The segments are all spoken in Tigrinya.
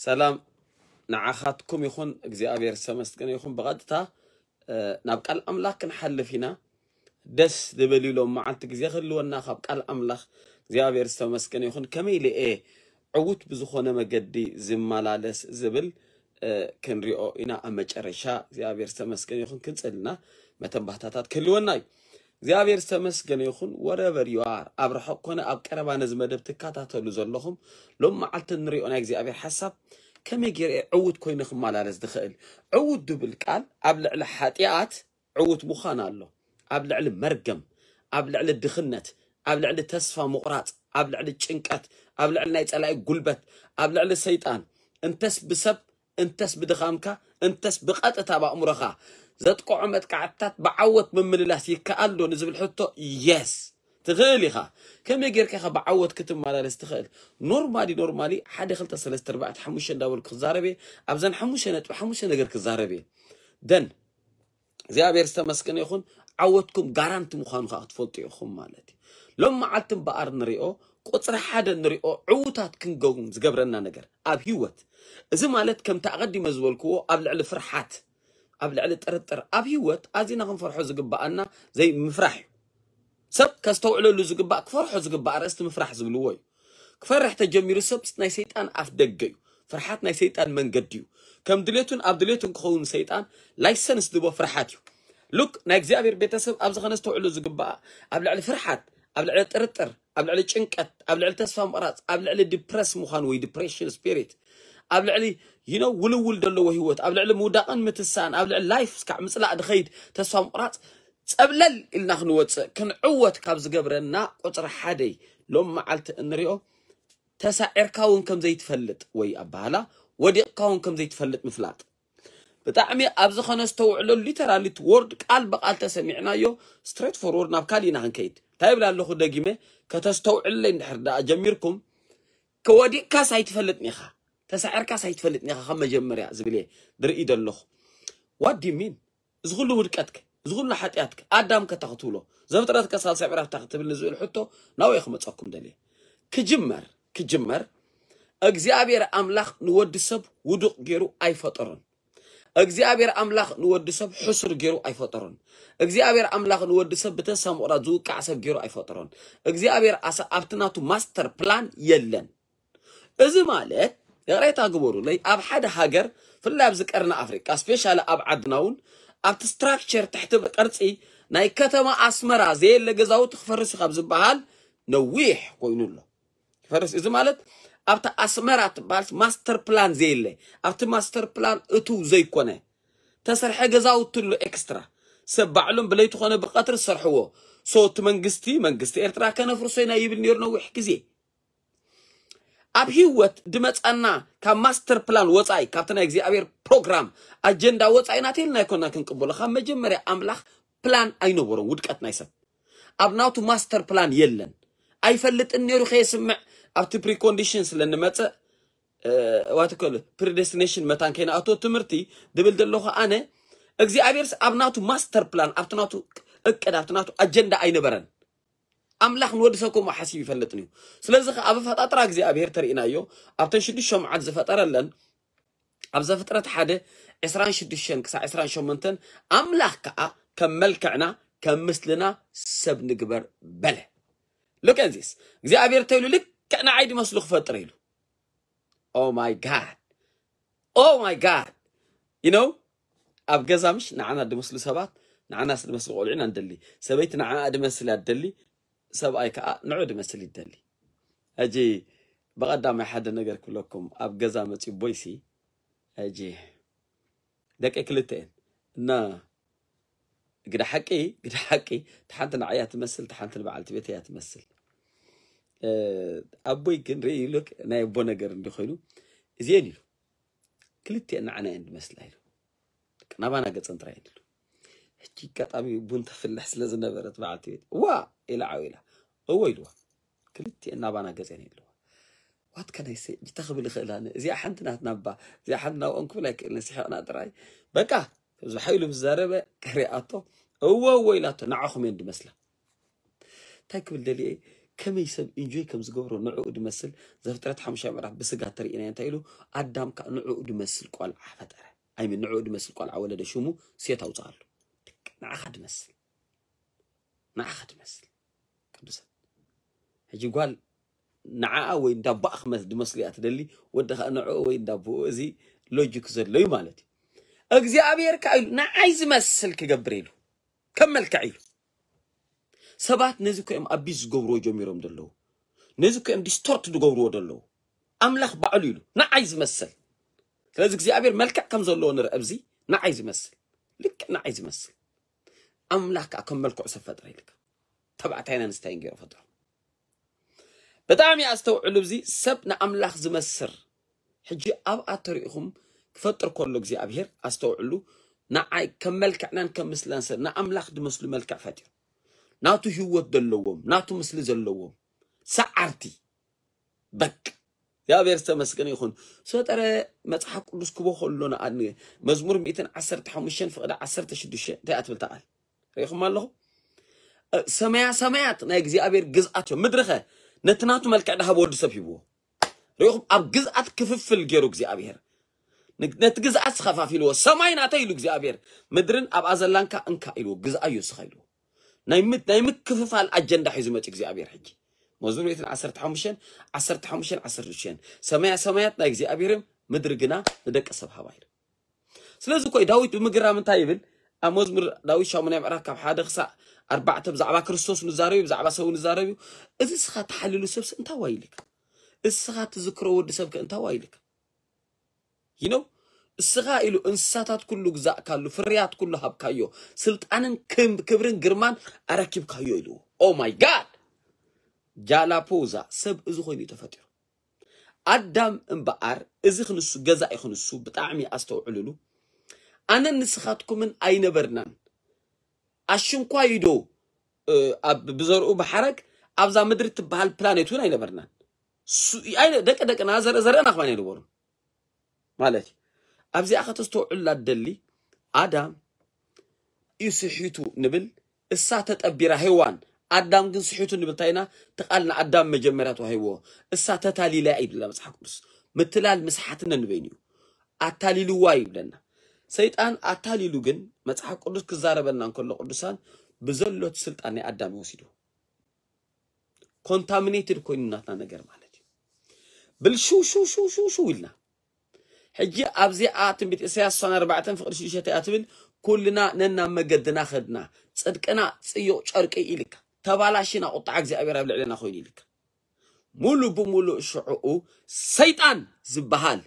ሰላም ንዓኻትኩም ይኹን። እግዚኣብሔር ዝተመስገነ ይኹን። ብቐጥታ ናብ ቃል ኣምላኽ ክንሓልፍ ኢና። ደስ ዝብል ኢሎም መዓልቲ ግዜ ክህልወና ካብ ቃል ኣምላኽ እግዚኣብሔር ዝተመስገነ ይኹን። ከመይ ኢለ እየ ዕዉት ብዝኾነ መገዲ ዝመላለስ ዝብል ክንሪኦ ኢና ኣብ መጨረሻ። እግዚኣብሔር ዝተመስገነ ይኹን። ክንጽልና መተንባህታታት ክህልወና እዩ። እግዚኣብሔር ዝተመስገነ ይኹን። Wherever you are፣ ኣብ ርሑቕ ኮነ ኣብ ቀረባ ነዚ መደብ ትከታተሉ ዘለኹም፣ ሎም መዓልቲ ንሪኦ ናይ እግዚኣብሔር ሓሳብ ከመይ ገይረ እየ ዕዉት ኮይነ ክመላለስ ዝኽእል? ዕዉት ዝብል ቃል ኣብ ልዕሊ ሓጢኣት ዕዉት ምዃን ኣሎ፣ ኣብ ልዕሊ መርገም፣ ኣብ ልዕሊ ድኽነት፣ ኣብ ልዕሊ ተስፋ ምቑራጽ፣ ኣብ ልዕሊ ጭንቀት፣ ኣብ ልዕሊ ናይ ጸላኢ ጉልበት፣ ኣብ ልዕሊ ሰይጣን፣ እንተስ ብሰብ እንተስ ብድኻምካ እንተስ ብቐጥታ ብኣእምሮኻ ዘጥቅዖ መጥቃዕትታት ብዓወት ምምልላስ ይከኣል ዶ ንዝብል ሕቶ፣ የስ፣ ትኽእል ኢኻ። ከመይ ጌርካ ኢኻ ብዓወት ክትመላለስ ትኽእል? ኖርማሊ ኖርማሊ ሓደ ክልተ ሰለስተ ኣርባዕተ ሓሙሽተ እንዳበልኩ ክዛረብ እየ። ኣብዘን ሓሙሽተ ነጥቢ ሓሙሽተ ነገር ክዛረብ እየ። ደን እግዚኣብሔር ዝተመስገነ ይኹን። ዓወትኩም ጋራንቲ ምዃኑ ከዓ ክትፈልጡ ኢኹም ማለት እዩ። ሎም መዓልቲ እምበኣር ንሪኦ፣ ቁፅሪ ሓደ ንሪኦ ዕዉታት ክንከውን ዝገብረና ነገር ኣብ ህይወት። እዚ ማለት ከምቲ ኣቐዲመ ዝበልክዎ ኣብ ልዕሊ ፍርሓት፣ ኣብ ልዕሊ ጥርጥር፣ ኣብ ህይወት ኣዚና ክንፈርሖ ዝግበኣና ዘይምፍራሕ እዩ። ሰብ ከስተውዕለሉ ዝግባእ፣ ክፈርሖ ዝግባእ ኣርእስቲ ምፍራሕ ዝብልዎ እዩ። ክፈርሕ ተጀሚሩ ሰብ ናይ ሰይጣን ኣፍ ደገ እዩ። ፍርሓት ናይ ሰይጣን መንገዲ እዩ። ከም ድሌቱን ኣብ ድሌቱን ክኸውን ሰይጣን ላይሰንስ ዝቦ ፍርሓት እዩ። ሉክ ናይ እግዚኣብሔር ቤተሰብ ኣብዚ ከነስተውዕሉ ዝግባኣ ኣብ ልዕሊ ፍርሓት፣ ኣብ ልዕሊ ጥርጥር፣ ኣብ ልዕሊ ጭንቀት፣ ኣብ ልዕሊ ተስፋ ምቕራጽ፣ ኣብ ልዕሊ ዲፕረስ ምዃን ወይ ዲፕሬሽን ስፒሪት፣ ኣብ ልዕሊ you know ውልውል ዘለዎ ህይወት፣ ኣብ ልዕሊ ምውዳቕን ምትሳን፣ ኣብ ልዕሊ ላይፍ እስካዕ ምጽላእ ድኸይድ ተስፋ ምቕራጽ ጸብለል ኢልና ክንወጽእ ክንዕወት ካብ ዝገብረና ቁጽሪ ሓደይ ሎም መዓልቲ እንሪኦ ተሳዒርካ እውን ከም ዘይትፈልጥ ወይ ኣባህላ ወዲቕካ እውን ከም ዘይትፈልጥ ምፍላጥ። ብጣዕሚ ኣብዚ ከነስተውዕሎ ሊተራሊ ወርድ ቃል ብቃል ተሰሚዕናዮ ስትሬት ፎርወርድ ናብ ካሊእ ኢና ክንከይድ። እንታይ ይብል ኣለኹ ደጊመ ከተስተውዕለይ እንድሕር ደኣ ጀሚርኩም ከወዲቕካስ ኣይትፈልጥን ኢኻ፣ ተሳዒርካስ ኣይትፈልጥን ኢኻ ካብ መጀመርያ ዝብል እየ ዝርኢ ዘለኹ። ዋት ዲ ሚን? እዚ ኩሉ ውድቀትክ፣ እዚ ኩሉ ሓጢኣትክ ኣዳም ከታ ክትብሎ ዘፍጥረት ከሳልሳይ ምዕራፍ እታ ክትብል ንዝብል ሕቶ ናብኡ ክመፀኩም ደልየ። ክጅመር ክጅመር እግዚኣብሔር ኣምላኽ ንወዲ ሰብ ውዱቕ ገይሩ ኣይፈጠሮን። እግዚኣብሔር ኣምላኽ ንወዲ ሰብ ሕሱር ገይሩ ኣይፈጠሮን። እግዚኣብሔር ኣምላኽ ንወዲ ሰብ ብተስፋ ምቑራጽ ዝውቃዕ ሰብ ገይሩ ኣይፈጠሮን። እግዚኣብሔር ኣሳ ኣብቲ ናቱ ማስተር ፕላን የለን። እዚ ማለት ይቕሬታ ግበሩለይ፣ ኣብ ሓደ ሃገር ፍላይ ኣብዚ ቀርኒ ኣፍሪቃ ስፔሻሊ ኣብ ዓድና እውን ኣብቲ ስትራክቸር ትሕቲ ቅርጺ ናይ ከተማ ኣስመራ ዘየለ ገዛውቲ ክፈርስ እዩ ካብ ዝበሃል ነዊሕ ኮይኑ ኣሎ። ክፈርስ እዚ ማለት ኣብቲ ኣስመራ ትበሃል ማስተር ፕላን ዘየለ ኣብቲ ማስተር ፕላን እትው ዘይኮነ ተሰርሐ ገዛውቲ ኣሎ ኤክስትራ ሰብ ባዕሎም ብለይቲ ኮነ ብቐትሪ ዝሰርሕዎ። ሶ እቲ መንግስቲ መንግስቲ ኤርትራ ከነፍርሶ ኢና ይብል ነይሩ ነዊሕ ግዜ። ኣብ ህይወት ድመጻና ካብ ማስተር ፕላን ወጻኢ ካብቲ ናይ እግዚኣብሔር ፕሮግራም ኣጀንዳ ወጻኢ ናተልና ኣይኮና ክንቅበሎ። ካብ መጀመርያ ኣምላኽ ፕላን ኣይነበሮም ውድቀት ናይ ሰብ ኣብ ናቱ ማስተር ፕላን የለን። ኣይፈልጥን ነይሩ ከየስምዕ ኣብቲ ፕሪኮንዲሽን ስለ ንመጽእ ዋትከል ፕሪደስቲኔሽን መታን ከይንኣቶ ትምህርቲ ድብል ዘለኹ ኣነ እግዚኣብሔርስ ኣብ ናቱ ማስተር ፕላን ኣብቲ ናቱ እቅድ ኣብቲ ናቱ ኣጀንዳ ኣይነበረን። ኣምላኽ ንወዲ ሰብ ከምኡ ሓሲብ ይፈልጥን እዩ። ስለዚ ከ ኣብ ኣፈጣጥራ እግዚኣብሔር ተርእናዮ ኣብተን ሽዱሽተ መዓልቲ ዝፈጠረለን ኣብ ዘፍጥረት ሓደ ዕስራን ሽዱሽተን ክሳብ ዕስራን ሸሞንተን ኣምላኽ ከዓ ከም መልክዕና ከም ምስልና ሰብ ንግበር በለ። ሉክ ዚስ እግዚኣብሔር ተይሉ ልክዕ ንዓይ ድመስሉ ክፈጥር ኢሉ። Oh my God, oh my God. You know ኣብ ገዛ ምሽ ንዓና ድመስሉ ሰባት ንዓናስ ድመስሉ ቆልዑ ኢና ንደሊ። ሰበይቲ ንዓኣ ድመስል እያ ትደሊ፣ ሰብኣይ ከዓ ንዑ ድመስል ይደሊ። ሕጂ ብቐዳማይ ሓደ ነገር ክብለኩም ኣብ ገዛ መፂኡ ቦይሲ ሕጂ ደቂ ክልተ እየን እና ግዳ ሓቂ ግዳ ሓቂ ተሓንቲ ንዓያ ትመስል ተሓንቲ ንበዓልቲ ቤት እያ ትመስል። ኣቦይ ግን ርኢ ሉክ ናይ ኣቦ ነገር እንዲ ኮይኑ እዚአን ኢሉ ክልቲአን ንዓና እየን ዝመስላ ኢሉ ናባና ገፀን ጥራይ ኢሉ። ሕጂ ኣጋጣሚ ቡን ተፍልሕ ስለ ዝነበረት በዓልቲ ቤት ዋ ኢላ ዓው ኢላ እዎ ኢልዋ። ክልቲአን ናባና ገፀን ኢልዋ። ዋት ከናይ ሰ ጅታ ክብል ይኽእል ኣነ እዚኣ ሓንቲ ናትና እባ እዚኣ ሓንቲ ናብኦም ክብል ኣይክእልን ስሒቕና ጥራይ በቃ ከምዚ ሓይሉ ምስ ዘረበ ክሪኣቶ እዎ እዎ ኢላቶ ንዓኹም እየን ዝመስላ። እንታይ ክብል ደልየ ከመይ ሰብ ኢንጆይ ከም ዝገብሮ ንዕኡ ድመስል። ዘፍጥረት ሓሙሻይ ምዕራፍ ብስጋ ተርእና እንታይ ኢሉ? ኣዳም ከዓ ንዕኡ ድመስል ቆልዓ ፈጠረ። ኣይምን ንዕኡ ድመስል ቆልዓ ወለደ፣ ሽሙ ሴት ኣውፅኣሉ። ንዓኻ ድመስል፣ ንዓኻ ድመስል። ቅዱሳን፣ ሕጂ ጓል ንዓኣ ወይ እንዳቦኣ ክመስ ድመስሉ እያ ትደሊ። ወዲ ከዓ ንዕኡ ወይ እንዳቦኡ። እዚ ሎጂክ ዘሎ እዩ ማለት እዩ። እግዚኣብሔር ከዓ ኢሉ ንዓይ ዝመስል ክገብር ኢሉ ከም መልክዕ ኢሉ። ሰባት ነዚ እኮ እዮም ኣቢዝ ዝገብርዎ ጀሚሮም ዘለዉ። ነዚ እኮ እዮም ዲስቶርት ዝገብርዎ ዘለዉ። ኣምላኽ ባዕሉ ኢሉ ንዓይ ዝመስል። ስለዚ እግዚኣብሔር መልክዕ ከም ዘለዎ ንርኢ ኣብዚ። ንዓይ ዝመስል፣ ልክዕ ንዓይ ዝመስል። ኣምላኽ ከዓ ከም መልክዑ ሰብ ፈጠረ ኢልካ። ተባዕታይን ኣንስታይን ገይሩ ፈጠሩ። ብጣዕሚ ኣስተውዕሉ። እዚ ሰብ ንኣምላኽ ዝመስር ሕጂ ኣብኣ ተሪኢኹም ክፈጥር ከሎ እግዚኣብሔር ኣስተውዕሉ። ንዓይ ከም መልክዕናን ከም ምስልናን ሰብ ንኣምላኽ ዝመስሉ መልክዕ ፈጢሩ። ናቱ ህይወት ዘለዎም፣ ናቱ ምስሊ ዘለዎም ሰዓርቲ። በቃ እግዚኣብሔር ዝተመስገነ ይኹን። ሰጠረ መጽሓፍ ቅዱስ ክቦ ከሎ ንኣን መዝሙር ሚእትን ዓሰርተ ሓሙሽተን ፍቕዲ ዓሰርተ ሽዱሽተ እንታይ ኣትብል ተቓል ርኢኹም ኣለኹም? እ፣ ሰማያ ሰማያት ናይ እግዚኣብሔር ግዝኣት እዮም። ምድርኸ ነቲ ናቱ መልክዕ ድሃብ ወዲ ሰብ ሂብዎ። ርኢኹም? ኣብ ግዝኣት ክፍፍል ገይሩ እግዚኣብሔር ን-፣ ነቲ ግዝኣት ዝኸፋፊልዎ። ሰማይ ናተይ ኢሉ እግዚኣብሔር፣ ምድርን ኣብኣ ዘላንካ እንካ ኢልዎ፣ ግዝኣዮ እስኻ ኢልዎ። ናይ ምት-፣ ናይ ምክፍፋል ኣጀንዳ ሒዙ መፂ እግዚኣብሔር። ሕጂ መዝሙር ሚእትን ዓሰርተ ሓሙሽተን ዓሰርተ ሓሙሽተን ዓሰርተ ሽዱሽተን፣ ሰማያ ሰማያት ናይ እግዚኣብሔርም ምድሪ ግና ንደቂ ሰብ ሃባ ኢሉ። ስለዚ ኮይ ዳዊት ብምግራም እንታይ ይብል? ኣብ መዝሙር ዳዊት ሻሙናይ ምዕራፍ ካብ ሓደ ክሳዕ ኣርባዕተ ብዛዕባ ክርስቶስ ንዛረብ እዩ፣ ብዛዕባ ሰብ ንዛረብ እዩ። እዚ እስኻ ተሓልሉ ሰብስ እንታይ ዋይልካ? እስኻ ትዝክሮ ወዲ ሰብከ እንታይ ዋይልካ? ይነው እስኻ ኢሉ እንስሳታት ኩሉ ግዛእካሉ፣ ፍርያት ኩሉ ሃብካዮ፣ ስልጣንን ክም-፣ ክብርን ግርማን ኣረኪብካዮ ኢሉ። ኦ ማይ ጋድ! ጃላፖዛ ሰብ እዚ ኮይኑ እዩ ተፈጢሩ። ኣዳም እምበኣር እዚ ክንሱ ገዛኢ ክንሱ ብጣዕሚ ኣስተውዕልሉ። ኣነን ንስኻትኩምን ኣይነበርናን። ኣሽንኳይ ዶ፣ እ፣ ኣብ ብዘርኡ ብሓረግ ኣብዛ ምድሪ ትበሃል ፕላኔት እውን ኣይነበርናን። ሱ-፣ ኣይነ-፣ ደቂ ደቅና ዘር-፣ ዘርእና ከማን ኣይነበሩን ማለት እዩ። ኣብዚኣ ከተስተውዕሉላ ደሊ ኣዳም እዩ ስሒቱ ንብል፣ እሳ ተጠቢራ ሄዋን፣ ኣዳም ግን ስሒቱ ንብል እንታይ ኢና? እቲ ቃል ንኣዳም መጀመርያ ተዋሂብዎ፣ እሳ ተታሊላ እዩ ይብለና መጽሓፍ ቅዱስ። ምትላል ምስሓትነ ንበይኑ እዩ። ኣታሊልዋ ይብለና። ሰይጣን ኣታሊሉ ግን መጽሓፍ ቅዱስ ክዛረበና እንከሎ ቅዱሳን ብዘሎት ስልጣን ናይ ኣዳም ይወሲዱ። ኮንታሚኔትድ ኮይኑ ናትና ነገር ማለት እዩ። ብል ሽው ሽው ሽው ሽው ሽው ኢልና። ሕጂ ኣብዚኣ ትንቢት ኢሳያስ ስሳን ኣርባዕተን ፍቕዲ ሽዱሽተ እያ ትብል፣ ኩልና ነናብ መገድና ኸድና፣ ጽድቅና ጽዩቕ ጨርቂ ኢልካ፣ ተባላሽና ቁጣ እግዚኣብሔር ኣብ ልዕሌና ኮይኑ ኢልካ። ሙሉ ብሙሉእ ሽዕኡ ሰይጣን ዝበሃል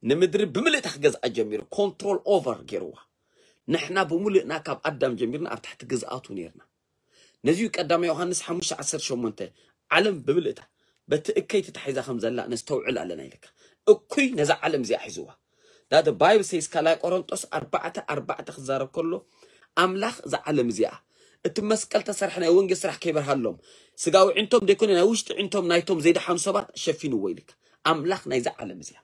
ንምድሪ ብምልእታ ክገዝኣ ጀሚሩ፣ ኮንትሮል ኦቨር ገይርዋ። ንሕና ብምሉእና ካብ ኣዳም ጀሚርና ኣብ ትሕቲ ግዝኣቱ ነይርና። ነዚዩ ቀዳማይ ዮሃንስ ሓሙሽተ ዓሰርተ ሸሞንተ፣ ዓለም ብምልእታ በቲ እከይ ተታሒዛ ከም ዘላ ነስተውዕል ኣለና ኢልካ። እኩይ ነዛ ዓለም እዚኣ ሒዝዋ። ዳ ባይብል ሴይስ ካልኣይ ቆሮንጦስ ኣርባዕተ ኣርባዕተ ክዛረብ ከሎ፣ ኣምላኽ እዛ ዓለም እዚኣ እቲ መስቀል ተሰርሐ ናይ ወንጌል ስራሕ ከይበርሃሎም፣ ስጋዊ ዕንቶም ደይኮነ ናይ ውሽጢ ዕንቶም ናይቶም ዘይደሓኑ ሰባት ሸፊንዎ ኢልካ። ኣምላኽ ናይዛ ዓለም እዚኣ።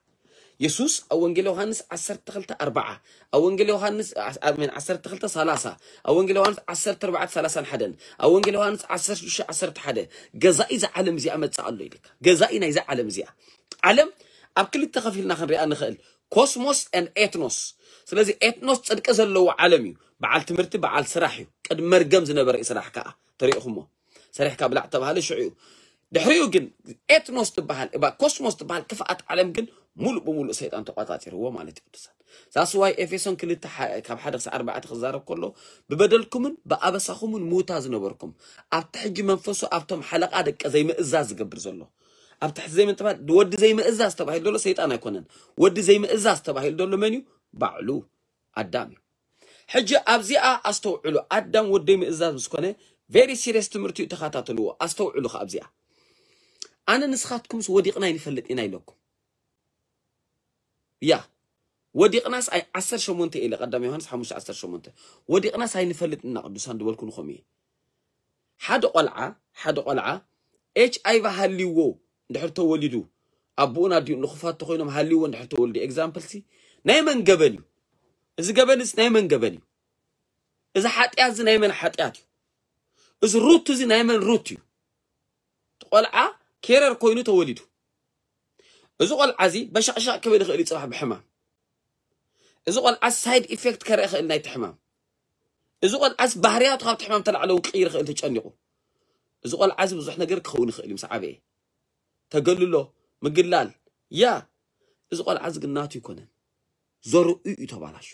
የሱስ ኣብ ወንጌል ዮሃንስ ዓሰርተ ክልተ ኣርብዓ፣ ኣብ ወንጌል ዮሃንስ ዓ-፣ ኣሜን፣ ዓሰርተ ክልተ ሰላሳ፣ ኣብ ወንጌል ዮሃንስ ዓሰርተ ኣርባዕተ ሰላሳን ሓደን፣ ኣብ ወንጌል ዮሃንስ ዓሰርተ ሽዱሽተ ዓሰርተ ሓደ፣ ገዛኢ እዛ ዓለም እዚኣ መጽእ ኣሎ ኢልካ። ገዛኢ ናይዛ ዓለም እዚኣ። ዓለም ኣብ ክልተ ከፊልና ክንሪኣ ንኽእል፣ ኮስሞስ and ኤትኖስ። ስለዚ ኤትኖስ ጽድቂ ዘለዎ ዓለም እዩ። በዓል ትምህርቲ፣ በዓል ስራሕ እዩ። ቅድሚ መርገም ዝነበረ እዩ ስራሕ ከኣ። ተሪእኹሞ። ሰሪሕካ ብላዕ ተባሃለ ሽዑ እዩ። ድሕሪኡ ግን ኤትኖስ ትበሃል፣ እባ ኮስሞስ ትበሃል ክፍኣት ዓለም ግን ሙሉእ ብሙሉእ ሰይጣን ተቋጻጺርዎ ማለት እዩ ቅዱሳን። ዛስዋይ ኤፌሶን ክልተ ሓ-፣ ካብ ሓደ ክሳዕ ኣርባዕተ ክዛረብ ከሎ፣ ብበደልኩምን ብኣበሳኹምን ምውታ ዝነበርኩም፣ ኣብቲ ሕጂ መንፈሱ ኣብቶም ሓለቓ ደቀ ዘይምእዛዝ ዝገብር ዘሎ። ኣብቲ ሕጂ ዘይምጥፋል፣ ወዲ ዘይምእዛዝ ተባሂሉ ዘሎ ሰይጣን ኣይኮነን። ወዲ ዘይምእዛዝ ተባሂሉ ዘሎ መን እዩ? ባዕሉ ኣዳም እዩ። ሕጂ ኣብዚኣ ኣስተውዕሉ። ኣዳም ወዲ ዘይምእዛዝ ምስ ኮነ፣ ቬሪ ሲሪየስ ትምህርቲ እዩ፣ ተኸታተልዎ። ኣስተውዕሉ ከ ኣብዚኣ። ኣነ ንስኻትኩምስ ወዲቕና ኣይንፈልጥ ኢና ኢለኩም። ያ፣ ወዲቕናስ ኣይ-፣ ዓሰርተ ሸሞንተ ኢለ፣ ቀዳም ዮሃንስ ሓሙሽተ ዓሰርተ ሸሞንተ። ወዲቕናስ ኣይንፈልጥ ኢና ቅዱሳን ዝበልኩ ንኹም እየ። ሓደ ቆልዓ፣ ሓደ ቆልዓ ኤች ኣይ ቪ ሃልይዎ እንድሕር ተወሊዱ፣ ኣቦኡን ኣዲኡን ንኹፋት ተኾይኖም ሃልይዎ እንድሕር ተወሊዱ፣ ኤግዛምፕል ሲ፣ ናይ መን ገበን እዩ? እዚ ገበንስ ናይ መን ገበን እዩ? እዚ ሓጢኣት እዚ ናይ መን ሓጢኣት እዩ? እዚ ሩት እዚ ናይ መን ሩት እዩ? ቆልዓ ኬረር ኮይኑ ተወሊዱ። እዚ ቆልዓ እዚ በሻቕሻቕ ክብል ይኽእል እዩ ጽባሕ ብሕማም። እዚ ቆልዓ ሳይድ ኢፌክት ከርኢ ይኽእል ናይቲ ሕማም። እዚ ቆልዓ እዚ ባህርያቱ ካብቲ ሕማም ተላዕለ እውን ክቕይር ይኽእል ተጨኒቑ። እዚ ቆልዓ እዚ ብዙሕ ነገር ክኸውን ይኽእል እዩ ምስ ዓበየ። ተገልሎ፣ ምግላል፣ ያ፣ እዚ ቆልዓ እዚ ግን ናቱ ኣይኮነን። ዘርኡ እዩ ተባላሹ።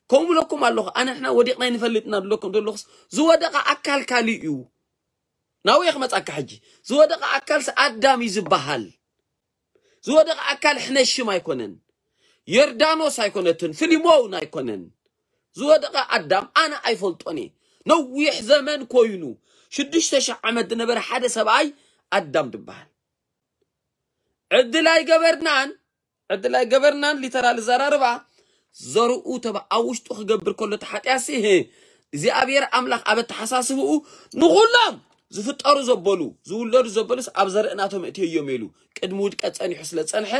ከምኡ ብለኩም ኣለኹ፣ ኣነ ንሕና ወዲቕና ኣይንፈልጥና ድለኩም ደለኹስ ዝወደቐ ኣካል ካልእ እዩ። ናብየ ክመጻካ ሕጂ። ዝወደቐ ኣካልስ ኣዳም እዩ ዝበሃል። ዝወደቐ ኣካል ሕነሽም ኣይኮነን። ዮርዳኖስ ኣይኮነትን፣ ፊሊሞን ኣይኮነን። ዝወደቐ ኣዳም ኣነ ኣይፈልጦን እየ። ነዊሕ ዘመን ኮይኑ ሽዱሽተ ሽሕ ዓመት ዝነበረ ሓደ ሰብኣይ ኣዳም ዝበሃል። ዕድል ኣይገበርናን፣ ዕድል ኣይገበርናን ሊተራል ዘራርባ ዘርኡ ተባ ኣብ ውሽጡ ክገብር ከሎ እቲ ሓጢኣሲ፣ ህ፣ እግዚኣብሔር ኣምላኽ ኣብ ኣተሓሳስብኡ ንኹሎም ዝፍጠሩ ዘበሉ፣ ዝውለዱ ዘበሉስ ኣብ ዘርእናቶም እትዮም ኢሉ ቅድሚ ውድቀት ጸኒሑ ስለ ጸንሐ፣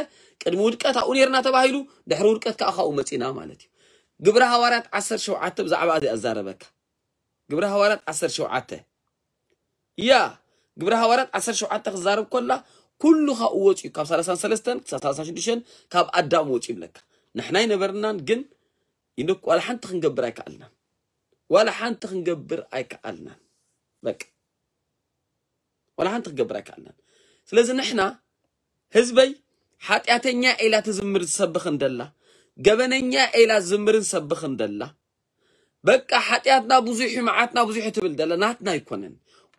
ቅድሚ ውድቀት ኣብኡ ነርና ተባሂሉ፣ ድሕሪ ውድቀት ከኣ ካብኡ መጺና ማለት እዩ። ግብረ ሃዋርያት ዓሰርተ ሸውዓተ ብዛዕባ እዚ ኣዛረበካ። ግብረ ሃዋርያት ዓሰርተ ሸውዓተ፣ ያ፣ ግብረ ሃዋርያት ዓሰርተ ሸውዓተ ክዛረብ ከላ ኩሉ ካብኡ ወፂኡ፣ ካብ ሰላሳን ሰለስተን ክሳብ ሰላሳን ሽዱሽተን ካብ ኣዳም ወፂኡ ይብለካ። ንሕና ኣይነበርናን፣ ግን ይንክ ዋላ ሓንቲ ክንገብር ኣይከኣልናን። ዋላ ሓንቲ ክንገብር ኣይከኣልናን። በቃ ዋላ ሓንቲ ክንገብር ኣይከኣልናን። ስለዚ ንሕና ህዝበይ ሓጢኣተኛ ኢላ ትዝምር ዝሰብኽ እንደላ፣ ገበነኛ ኢላ ዝዝምርን ሰብኽ እንደላ፣ በቃ ሓጢኣትና ብዙሕ እዩ፣ መዓትና ብዙሕ እዩ ትብል ደላ ናትና ኣይኮነን።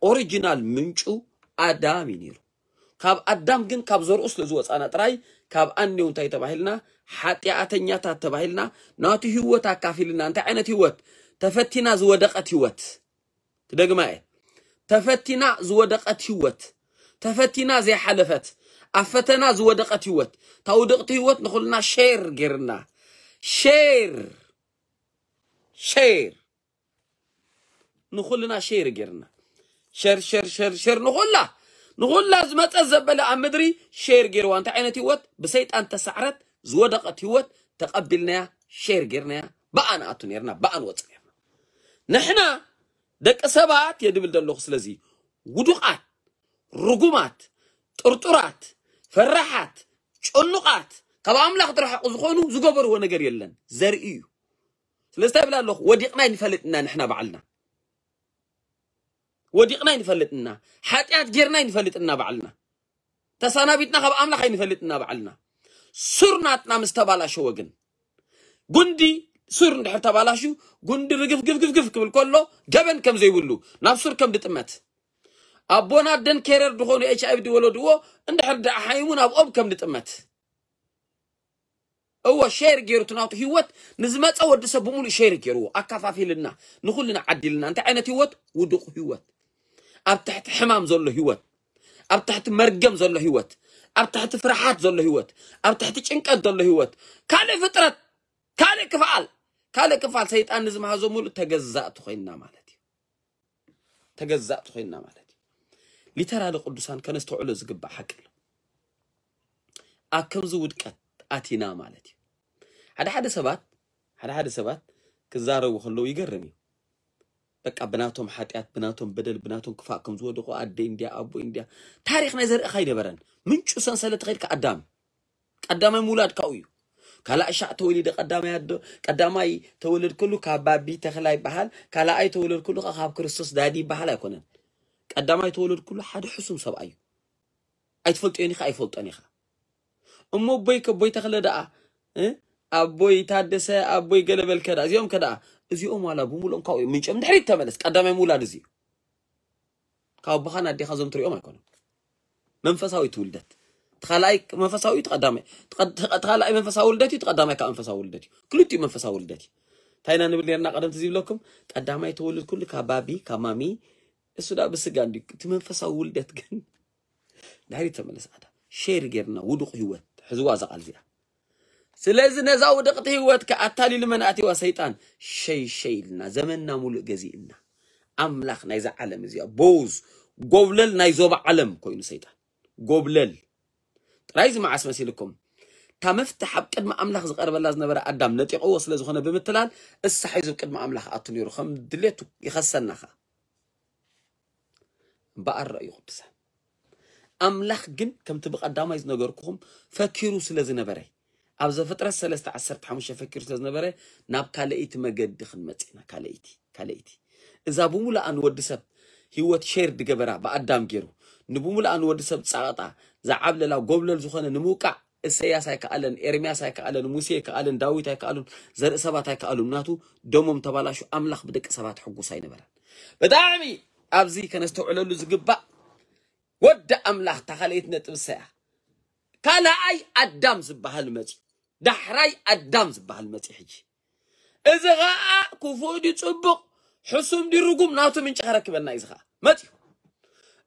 ኦሪጂናል ምንጩ ኣዳም እዩ ነይሩ። ካብ ኣዳም ግን ካብ ዘርኡ ስለ ዝወፃና ጥራይ ካብ ኣኔው እንታይ ተባሂልና? ሓጢኣተኛታት ተባሂልና። ናቱ ህይወት ኣካፊልና። እንታይ ዓይነት ህይወት? ተፈቲና ዝወደቐት ህይወት። ክደግማ እየ። ተፈቲና ዝወደቐት ህይወት። ተፈቲና ዘይሓለፈት። ኣብ ፈተና ዝወደቐት ህይወት። እታ ውድቕቲ ህይወት ንኹልና ሼር ጌርና። ሼር። ሼር። ንኹልና ሼር ጌርና። ሸር፣ ሸር፣ ሸር፣ ሸር ንኹላ። ንኹላ ዝመጸት ዘበለ ኣብ ምድሪ ሼር ጌርዋ። እንታይ ዓይነት ህይወት? ብሰይጣን ተሳዕረት ዝወደቐት ህይወት ተቐቢልናያ፣ ሼር ጌርናያ። ብኣ ንኣቱ ኔርና፣ ብኣ ንወጽእ ኔርና። ንሕና ደቂ ሰባት እየ ድብል ዘለኹ። ስለዚ ውዱቓት፣ ርጉማት፣ ጥርጡራት፣ ፈራሓት፣ ጭኑቓት፣ ካብ ኣምላኽ ዝረሓቑ ዝኾኑ ዝገበርዎ ነገር የለን። ዘርኢ እዩ። ስለዚ እንታይ ይብል ኣለኹ? ወዲቕና ኣይንፈልጥና ንሕና ባዕልና። ወዲቕና ኣይንፈልጥና። ሓጢኣት ጌርና ኣይንፈልጥና ባዕልና። ተሰናቢትና ካብ ኣምላኽ ኣይንፈልጥና ባዕልና። ሱር ናትና ምስ ተባላሸወ ግን፣ ጉንዲ ሱር እንድሕር ተባላሹ፣ ጉንዲ ርግፍ ግፍ ግፍ ግፍ ክብል ከሎ፣ ገበን ከም ዘይብሉ፣ ናብ ሱር ከም ድጥመት። ኣቦን ኣደን ኬረር ድኾኑ ኤች ኣይ ቪ ድወለድዎ፣ እንድሕር ደኣ ሓይሙ ናብ ኦም ከም ድጥመት። እወ፣ ሼር ጌሩ እቲ ናቱ ህይወት ንዝመጸ ወዲ ሰብ ብምሉእ ሼር ጌርዎ፣ ኣካፋፊልና፣ ንኹልና ዓዲልና። እንታይ ዓይነት ህይወት? ውዱቕ ህይወት። ኣብ ትሕቲ ሕማም ዘሎ ህይወት፣ ኣብ ትሕቲ መርገም ዘሎ ህይወት፣ ኣብ ትሕቲ ፍርሓት ዘሎ ህይወት፣ ኣብ ትሕቲ ጭንቀት ዘሎ ህይወት። ካልእ ፍጥረት፣ ካልእ ክፍኣል፣ ካልእ ክፍኣል ሰይጣን ንዝመሃዞ ሙሉእ ተገዛእቲ ኮይንና ማለት እዩ። ተገዛእቲ ኮይንና ማለት እዩ። ሊተራሊ ቅዱሳን ከነስተውዕሎ ዝግባእ ሓቂ ኣሎ። ኣብ ከምዚ ውድቀት ኣቲና ማለት እዩ። ሓደ ሓደ ሰባት፣ ሓደ ሓደ ሰባት ክዛረቡ ከለዉ ይገርም እዩ። በቃ ብናቶም ሓጢኣት፣ ብናቶም በደል፣ ብናቶም ክፋእ ከም ዝወደቑ ኣደ እንድያ፣ ኣቦ እንድያ። ታሪኽ ናይ ዘርእኻ ኣይነበረን። ምንጩ ሰንሰለት ተኸይድካ ኣዳም። ቀዳማይ ምውላድ ካብኡ እዩ። ካልኣይ ሻዕ ተወሊደ ቀዳማይ ኣዶ፣ ቀዳማይ ተወለድኩሉ ካብ ባቢ ተኽላ ይበሃል፣ ካልኣይ ተወለድኩሉ ከ ካብ ክርስቶስ ዳዲ ይበሃል ኣይኮነን። ቀዳማይ ተወለድኩሉ ሓደ ሕሱም ሰብኣይ እዩ። ኣይትፈልጦን ኢኻ፣ ኣይፈልጦን ኢኻ። እሞ ኣቦይ ከ፣ ኣቦይ ተኽለ ደኣ፣ እ? ኣቦይ ታደሰ፣ ኣቦይ ገለ በልከ ደኣ፣ እዚኦም ከ ደኣ፣ እዚኦም ዋላ ብምሉኦም ካብኡ እዮም ምንጮም። ድሕሪት ተመለስ፣ ቀዳማይ ምውላድ እዚ እዩ። ካብ ኣቦኻን ኣዴኻ እዞም ትሪኦም ኣይኮኑን። መንፈሳዊ ትውልደት። እቲ ካልኣይ መንፈሳዊ እዩ፣ እቲ ቀዳማይ። እቲ ቀ-፣ እቲ ካልኣይ መንፈሳዊ ውልደት እዩ፣ እቲ ቀዳማይ ካብ መንፈሳዊ ውልደት እዩ። ክልቲኡ መንፈሳዊ ውልደት እዩ። እንታይ ኢና ንብል ነርና ቀደም ትዝ ይብለኩም? ቀዳማይ ተወልድ ኩሉ ካብ ባቢ፣ ካብ ማሚ፣ እሱ ደኣ ብስጋ እንዲ-፣ እቲ መንፈሳዊ ውልደት ግን ድሕሪት ተመለስ ኣታ። ሼር ጌርና ውዱቕ ህይወት፣ ሕዝዋ እዛ ቃል እዚኣ። ስለዚ ነዛ ውድቕቲ ህይወት ከ ኣታሊሉ መን ኣትዋ? ሰይጣን። ሸይ ሸይ ኢልና፣ ዘመንና ሙሉእ ገዚእና። ኣምላኽ ናይዛ ዓለም እዚኣ፣ ቦዝ፣ ጎብለል ናይ ዞባ ዓለም ኮይኑ ሰይጣን። ጎብለል። ጥራይ እዚ መዓስ መሲልኩም? እታ መፍትሕ ኣብ ቅድሚ ኣምላኽ ዝቐርበላ ዝነበረ ኣዳም ነጢቕዎ ስለ ዝኾነ ብምትላል፣ እሳ ሒዙ ኣብ ቅድሚ ኣምላኽ ኣቱ ነይሩ፣ ከም ድሌቱ ይኸሰና ኸኣ። እምበኣር ረእዩ ቅዱሳን። ኣምላኽ ግን ከምቲ ብቐዳማይ ዝነገርኩኹም ፈኪሩ ስለ ዝነበረ፣ ኣብ ዘፍጥረት ሰለስተ ዓሰርተ ሓሙሽተ ፈኪሩ ስለ ዝነበረ፣ ናብ ካልኣይቲ መገዲ ክንመጽእ ኢና። ካልኣይቲ ካልኣይቲ እዛ ብሙሉኣ ንወዲ ሰብ ህይወት ሼር ድገበራ ብኣዳም ገይሩ ንብሙሉኣ ንወዲ ሰብ ጻቕጣ ዝዓብለላ ጎብለል ዝኾነ ንምውቃዕ እሰያስ ኣይከኣለን፣ ኤርምያስ ኣይከኣለን፣ ሙሴ ኣይከኣለን፣ ዳዊት ኣይከኣሉን፣ ዘርኢ ሰባት ኣይከኣሉን። ምክንያቱ ደሞም ተባላሹ። ኣምላኽ ብደቂ ሰባት ሕጉስ ኣይነበረን። ብጣዕሚ ኣብዚ ከነስተውዕለሉ ዝግባእ ወዲ ኣምላኽ እታ ካልኣይቲ ነጥብ እሰያ ካልኣይ ኣዳም ዝበሃል መጺ፣ ዳሕራይ ኣዳም ዝበሃል መጺ። ሕጂ እዚ ኸኣ ክፉእ ድዩ ጽቡቕ፣ ሕሱም ድዩ ርጉም፣ ናቱ ምንጪ ከረክበና እዩ። እዚ ኸኣ መጺኡ።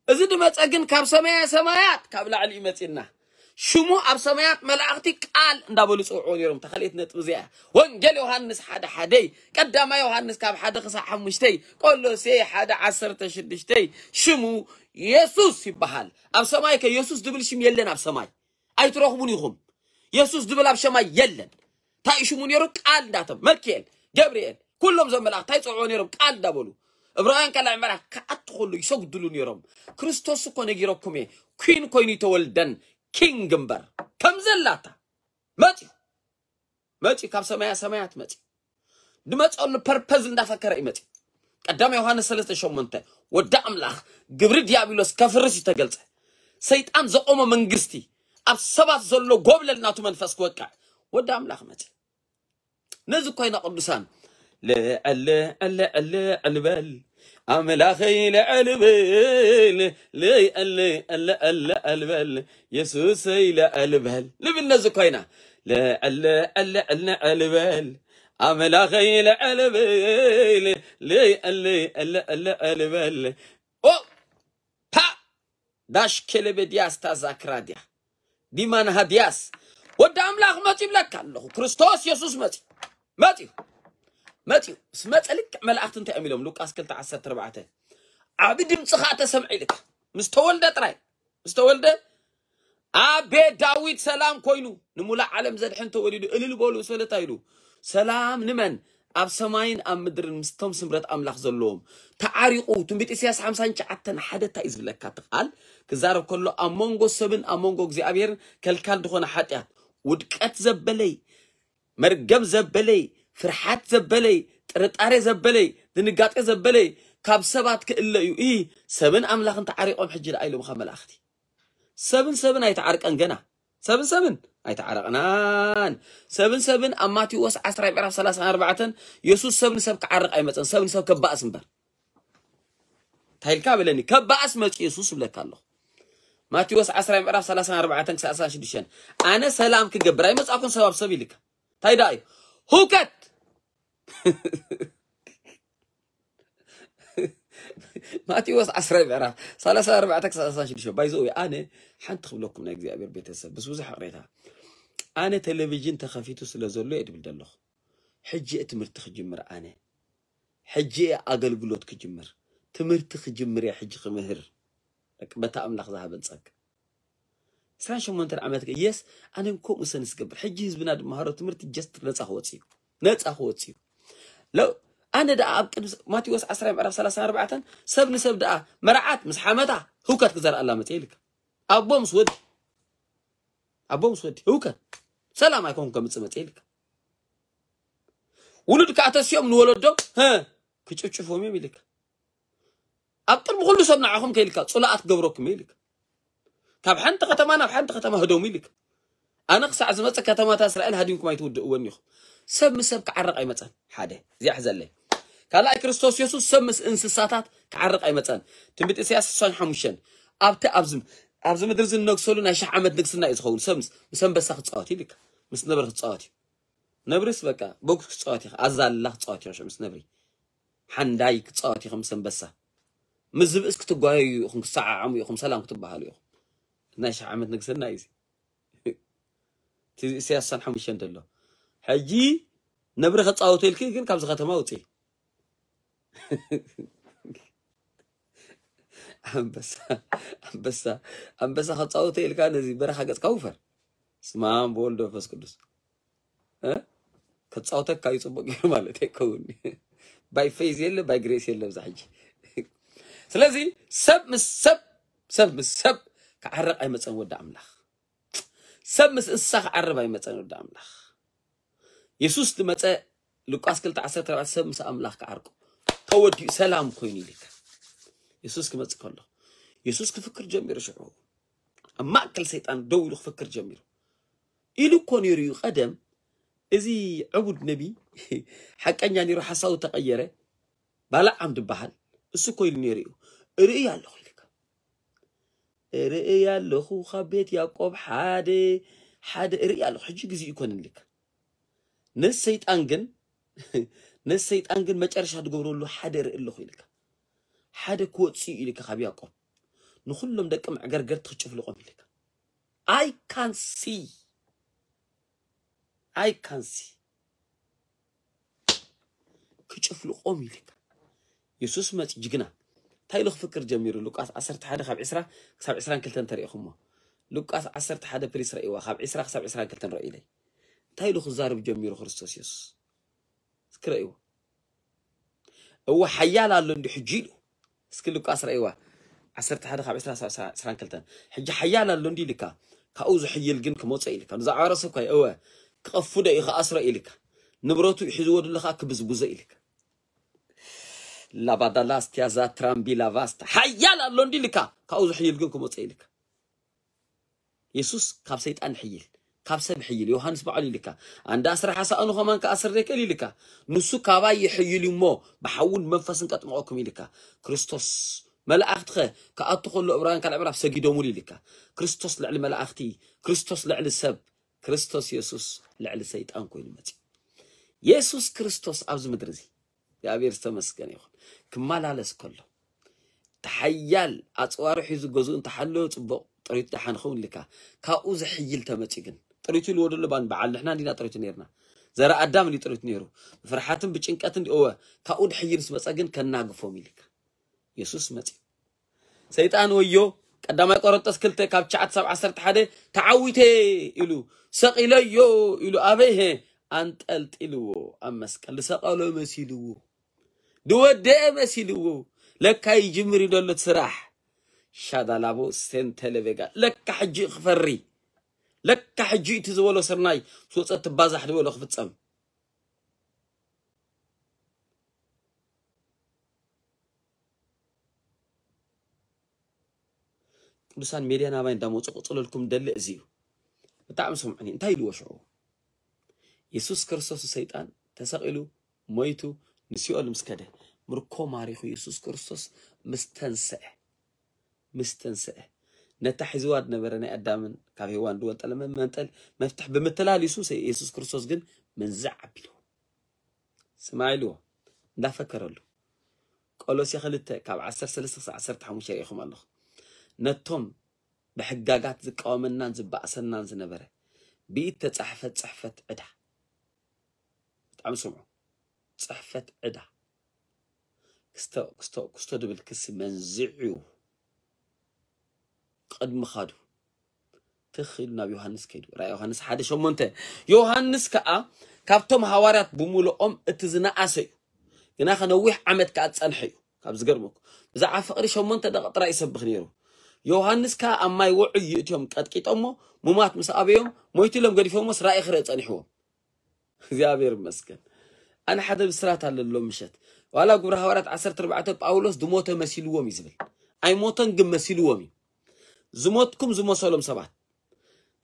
እዚ ድመጸ ግን ካብ ሰማያ ሰማያት ካብ ላዕሊ እዩ መጺና። ሽሙ ኣብ ሰማያት መላእኽቲ ቃል እንዳበሉ ጽውዕዎ ነይሮም። እታ ካልኣይቲ ነጥቢ እዚኣ ወንጌል ዮሃንስ ሓደ ሓደይ፣ ቀዳማይ ዮሃንስ ካብ ሓደ ክሳዕ ሓሙሽተይ፣ ቆሎሴ ሓደ ዓሰርተ ሽዱሽተይ፣ ሽሙ የሱስ ይበሃል። ኣብ ሰማይ ከ የሱስ ድብል ሽም የለን። ኣብ ሰማይ ኣይትረኽቡን ኢኹም። የሱስ ድብል ኣብ ሰማይ የለን። እንታይ እዩ ሽሙ ነይሩ? ቃል እንዳተብ መልክኤል፣ ገብርኤል፣ ኩሎም እዞም መላእኽቲ እንታይ ይጽውዕዎ ነይሮም? ቃል እንዳበሉ። ዕብራውያን ካልኣይ ምዕራፍ ክኣቱ ከሎ ይሰግድሉ ነይሮም። ክርስቶስ እኮ ነጊረኩም እየ፣ ኩን ኮይኑ ይተወልደን ኪንግ እምበር ከም ዘላታ መጺኡ መጺኡ ካብ ሰማያ ሰማያት መጺኡ ድመጸሉ ፐርፐዝ እንዳፈከረ እዩ መጺኡ። ቀዳማይ ዮሃንስ ሰለስተ ሸሞንተ ወዲ ኣምላኽ ግብሪ ዲያብሎስ ከፍርስ እዩ ተገልጸ። ሰይጣን ዘቆሞ መንግስቲ ኣብ ሰባት ዘሎ ጎብለል ናቱ መንፈስ ክወቅዕ ወዲ ኣምላኽ መጺኡ። ነዚ ኮይና ቅዱሳን ልዕል ልዕል ልዕል በል ኣምላኸይ ልዕል በል ልዕል ልዕል ልዕል በል የሱሰይ ልዕል በል ልብል ነዚ ኮይና ልዕል ልዕል ልዕል ልዕል በል ኣምላኸይ ልዕል በል ልዕል ልዕል ልዕል በል ኦ ፓ ዳሽ ኬለበ ዲያስ ታዛክራ ዲያ ዲማን ሃዲያስ ወዲ ኣምላኽ መጺ ይብለካ ኣለኹ። ክርስቶስ የሱስ መጺ መጺ መጺ ምስ መጸ ልክዕ መላእኽቲ እንታይ እዮም ኢሎም? ሉቃስ ክልተ ዓሰርተ ኣርባዕተ ዓቢ ድምጺ ኸኣ ተሰምዐ ኢልካ ምስ ተወልደ ጥራይ ምስ ተወልደ ኣቤ ዳዊት ሰላም ኮይኑ ንሙላእ ዓለም ዘድሕን ተወሊዱ እልል በሉ ምስ በለ እንታይ ኢሉ? ሰላም ንመን ኣብ ሰማይን ኣብ ምድርን ምስቶም ስምረት ኣምላኽ ዘለዎም ተዓሪቑ። ትንቢት ኢሳያስ ሓምሳን ትሽዓተን ሓደ እንታይ እዩ ዝብለካ? እቲ ቃል ክዛረብ ከሎ ኣብ መንጎ ሰብን ኣብ መንጎ እግዚኣብሔርን ከልካል ዝኾነ ሓጢኣት ውድቀት ዘበለይ መርገም ዘበለይ ፍርሓት ዘበለይ ጥርጣሬ ዘበለይ ድንጋጤ ዘበለይ ካብ ሰባት ክእለ እዩ። ኢ ሰብን ኣምላኽን ተዓሪቖም ሕጂ ደኣ ኢሎም ካብ መላእኽቲ ሰብን ሰብን ኣይተዓርቀን ገና ሰብን ሰብን ኣይተዓረቕናን። ሰብን ሰብን ኣብ ማቴዎስ ዓስራ ምዕራፍ ሰላሳን ኣርባዕተን የሱስ ሰብ ንሰብ ክዓርቕ ኣይመፀን፣ ሰብ ንሰብ ከባእስ እምበር። እንታይ ኢልካ በለኒ? ከባእስ መፂ የሱስ እብለካ ኣለኹ። ማቴዎስ ዓስራ ምዕራፍ ሰላሳን ኣርባዕተን ክሳዕ ሰላሳን ሽዱሽተን ኣነ ሰላም ክገብር ኣይመፃእኩን ሰብ ኣብ ሰብ ኢልካ እንታይ ደኣ እዩ? ሁከት ማቴዎስ ዓስራ ምዕራፍ ሰላሳ ኣርባዕተ ክሳዕ ሰላሳ ሽዱሽተ ባይዘው ኣነ ሓንቲ ክብለኩም ናይ እግዚኣብሔር ቤተሰብ ምስ ብዙሕ ቅሬታ ኣነ ቴሌቪዥን ተኸፊቱ ስለ ዘሎ እየ ድብል ዘለኹ። ሕጂ እየ ትምህርቲ ክጅምር ኣነ ሕጂ እየ ኣገልግሎት ክጅምር ትምህርቲ ክጅምር እየ ሕጂ ክምህር በታ ኣምላኽ ዝሃበን ጸጋ ዕስራን ሸሞንተን ዓመት የስ ኣነ ከምኡ ሰንስ ገብር ሕጂ ህዝብና ድመሃሮ ትምህርቲ ጀስት ነፃ ክወፅ እዩ ነፃ ክወፅ እዩ ለው ኣነ ደኣ ኣብ ቅድሚ ማቴዎስ ዓስራ ምዕራፍ ሰላሳን ኣርባዕተን ሰብ ንሰብ ደኣ መርዓት ምስ ሓመታ ህውከት ክዘርኣላ መፅእ ኢልካ ኣቦ ምስ ወዲ ኣቦ ምስ ወዲ ህውከት ሰላም ኣይኮን ከምፅእ መፅእ ኢልካ ውሉድ ከዓ ተሲኦም ንወለዶም ክጭፍጭፎም እዮም ኢልካ ኣብ ቅድሚ ኩሉ ሰብ ንዓኹም ከይልካ ፅሉኣት ክገብረኩም እየ ኢልካ ካብ ሓንቲ ከተማ ናብ ሓንቲ ከተማ ህደሙ ኢልካ ኣነ ክሳዕ ዝመፅእ ከተማታት እስራኤል ሃዲምኩም ኣይትውድእወን ኢኹም ሰብ ምስ ሰብ ክዓረቕ ኣይመፀን ሓደ እዚኣ ሕዘለይ ካልኣይ ክርስቶስ የሱስ ሰብ ምስ እንስሳታት ክዓርቕ ኣይመፀን ትንቢት ኢሳያስ ስሳን ሓሙሽተን ኣብቲ ኣብዚ ኣብዚ ምድሪ ዝነግሰሉ ናይ ሽሕ ዓመት ንግስና እዩ ዝኸውን ሰብ ምስ ምስ ኣንበሳ ክፃወት እዩ ኢልካ ምስ ነብሪ ክፃወት እዩ ነብርስ በቃ ቦክስ ክፃወት ኢኻ ኣዛላ ክፃወት ኢኻ ምስ ነብሪ ሓንዳይ ክፃወት ኢኹም ምስ ኣንበሳ ምስ ዝብእስ ክትጓየዩ ኢኹም ክሰዓዓሙ ኢኹም ሰላም ክትበሃሉ ኢኹም ናይ ሽሕ ዓመት ንግስና እዩ እዚ ኢሳያስ ሳን ሓሙሽተ እንተሎ ሕጂ ነብሪ ከፃወተልኪ ግን ካብዚ ከተማ ውፅኢ ኣንበሳ ኣንበሳ ኣንበሳ ከፃወተ ኢልካ ነዚ በረኻ ገፅካ ውፈር ስማም ብወልዶ መንፈስ ቅዱስ ከፃውተካ እዩ ፅቡቅ ገይሩ ማለት ኣይከውን ባይ ፌዝ የለ ባይ ግሬስ የለ ብዛ ሕጂ ስለዚ ሰብ ምስ ሰብ ሰብ ምስ ሰብ ክዓረቕ ኣይመጸን ወዲ ኣምላኽ። ሰብ ምስ እንስሳ ክዓርብ ኣይመጸን ወዲ ኣምላኽ። የሱስ ዝመጸ ሉቃስ ክልተ ዓሰርተ ኣርባዕተ ሰብ ምስ ኣምላኽ ክዓርቁ ተወዲኡ ሰላም ኮይኑ ኢልካ። የሱስ ክመጽእ ከሎ የሱስ ክፍክር ጀሚሩ ሽዑ ኣብ ማእከል ሰይጣን ደው ኢሉ ክፍክር ጀሚሩ ኢሉ እኮ ነይሩ እዩ። ቀደም እዚ ዕቡድ ነቢ ሓቀኛ ነይሩ ሓሳቡ ተቐየረ። ባላዓም ዝበሃል እሱ እኮ ኢሉ ነይሩ እዩ። እርእይ ኣለኹ ኢልካ እርእይ ኣለኹ ካብ ቤት ያዕቆብ ሓደ ሓደ እርእይ ኣለኹ። ሕጂ ግዜ ይኮን ኢልካ ነሰይጣን ግን ነሰይጣን ግን መጨረሻ ትገብረሉ ሓደ እርእይ ኣለኹ ኢልካ ሓደ ክወፅእ ኢልካ ካብ ያዕቆብ ንኩሎም ደቂ መዕገርገርቲ ክጭፍልቆም ኢልካ I can see I can see ክጭፍልቆም ኢልካ የሱስ መፂ ጅግና እንታይ ኢሉ ክፍክር ጀሚሩ ሉቃስ ዓሰርተ ሓደ ካብ ዕስራ ክሳብ ዕስራን ክልተን ተሪኢኹሞ ሉቃስ ዓሰርተ ሓደ ፕሊስ ረእይዋ ካብ ዕስራ ክሳብ ዕስራን ክልተን ረእዩለይ እንታይ ኢሉ ክዛረብ ጀሚሩ ክርስቶስ የሱስ እስኪ ረእይዎ እወ ሓያል ኣሎ እንዲ ሕጂ ኢሉ እስኪ ሉቃስ ረእይዋ ዓሰርተ ሓደ ካብ ዕስራ ክሳብ ዕስራን ክልተን ሕጂ ሓያል ኣሎ እንዲ ኢልካ ካብኡ ዝሕይል ግን ክመፀ ኢልካ ብዛዕባ ርእሱ እኳ እወ ክቐፉ ዶ እዩ ክኣስሮ ኢልካ ንብረቱ ሒዝዎ ድለካ ክብዝብዞ ኢልካ ላባዳላስቲያ ዛትራምቢ ላቫስታ ሓያል ኣሎ እንዲ ኢልካ ካብኡ ዝሕይል ግን ክመፀ ኢልካ የሱስ ካብ ሰይጣን ይሕይል ካብ ሰብ ይሕይል ዮሃንስ ባዕሉ ኢልካ ኣንዳ ኣስራ ሓሳእኑ ከማን ክኣስር ዘይክእል ኢልካ ንሱ ካባይ ይሕይል እዩ እሞ ብሓውን መንፈስን ከጥምቐኩም ኢልካ ክርስቶስ መላእኽትኸ ክኣቱ ከሎ እብራውያን ካልዕ ምዕራፍ ሰጊዶሙሉ ኢልካ ክርስቶስ ልዕሊ መላእኽቲ ክርስቶስ ልዕሊ ሰብ ክርስቶስ የሱስ ልዕሊ ሰይጣን ኮይኑ መፅዩ የሱስ ክርስቶስ ኣብዚ ምድሪ እዚ እግዚኣብሔር ዝተመስገነ ይኹን ክመላለስ ከሎ ተሓያል ኣፅዋሩ ሒዙ ገዝኡ እንተሓለወ ፅቡቕ ጥሪቱ ደሓን ኸውን ኢልካ ካብኡ ዝሕይል ተመፅዩ ግን ጥሪቱ ኢልዎ ደሎ ባን በዓል ንሕና እንዲና ጥሪቱ ነርና ዘረ ኣዳም እንዲ ጥሪቱ ነይሩ ብፍርሓትን ብጭንቀትን እወ ካብኡ ድሕይል ስመፀ ግን ከናግፎም ኢልካ የሱስ መፅዩ ሰይጣን ወዮ ቀዳማይ ቆሮንጦስ ክልተ ካብ ትሽዓተ ሳብ ዓሰርተ ሓደ ተዓዊተ ኢሉ ሰቒለዮ ኢሉ ኣበይ ሀ ኣንጠልጢልዎ ኣብ መስቀል ዝሰቐሎ መሲልዎ ድወደአ መሲልዎ ለካ ይጅምር እዩ ደሎ እቲ ስራሕ ሻዳላቦ ሴንተለቤጋ ለካ ሕጂ ክፈሪ ለካ ሕጂ እቲ ዝበሎ ስርናይ ስወፀ ትባዛሕ ዝበሎ ክፍፀም ቅዱሳን ሜድያ ናባይ እንዳመፁ ቅፅለልኩም ደሊ እዚ እዩ ብጣዕሚ ስምዑኒ እንታይ ኢልዎ ሽዑ የሱስ ክርስቶስ ሰይጣን ተሰቒሉ ሞይቱ ንሲኦል ምስ ከደ ምርኮ ማሪኹ የሱስ ክርስቶስ ምስ ተንስአ ምስ ተንስአ ነታ ሒዝዋ ዝነበረ ናይ ኣዳምን ካብ ሄዋን ዝወንጠለ መንጠል መፍትሕ ብምትላል የሱስ የሱስ ክርስቶስ ግን መንዝዕ ኣቢልዎ ስማዕ ኢልዎ እንዳፈከረሉ ቆሎሴ ክልተ ካብ ዓሰርተ ሰለስተ ክሳብ ዓሰርተ ሓሙሽተ ርኢኹም ኣለኹ ነቶም ብሕጋጋት ዝቃወመናን ዝበኣሰናን ዝነበረ ብኢድ ተጻሕፈት ጽሕፈት ዕዳ ብጣዕሚ ስምዑ ጽሕፈት ዕዳ ክስቶ ክስቶ ክስቶ ድብል ክሲ መንዚዑ ቅድሚ ኻዱ ትኽ ኢሉ ናብ ዮሃንስ ከይዱ ራእይ ዮሃንስ ሓደ ሸሞንተ ዮሃንስ ከዓ ካብቶም ሃዋርያት ብምልኦም እቲ ዝነኣሰ እዩ ግና ከነዊሕ ዓመት ከዓ ዝፀንሐ እዩ ካብ ዝገርመኩ ብዛዕባ ፍቕሪ ሸሞንተ ደቂ ጥራይ ይሰብኽ ነይሩ ዮሃንስ ከዓ ኣብ ማይ ውዑይ ይእትዮም ቀጥቂጦሞ ሙማት ምስ ኣበዮም ሞይቱ ኢሎም ገዲፎሞስ ራእይ ክርኢ ፀኒሕዎም እግዚኣብሔር ይመስገን ኣነ ሓደ ብስራት ኣለሎ ምሸት ዋላ ግብረ ሃዋርያት ዓሰርተ ኣርባዕተ ጳውሎስ ዝሞተ መሲልዎም እዩ ዝብል ኣይሞተን ግን መሲልዎም እዩ ዝሞትኩም ዝመሰሎም ሰባት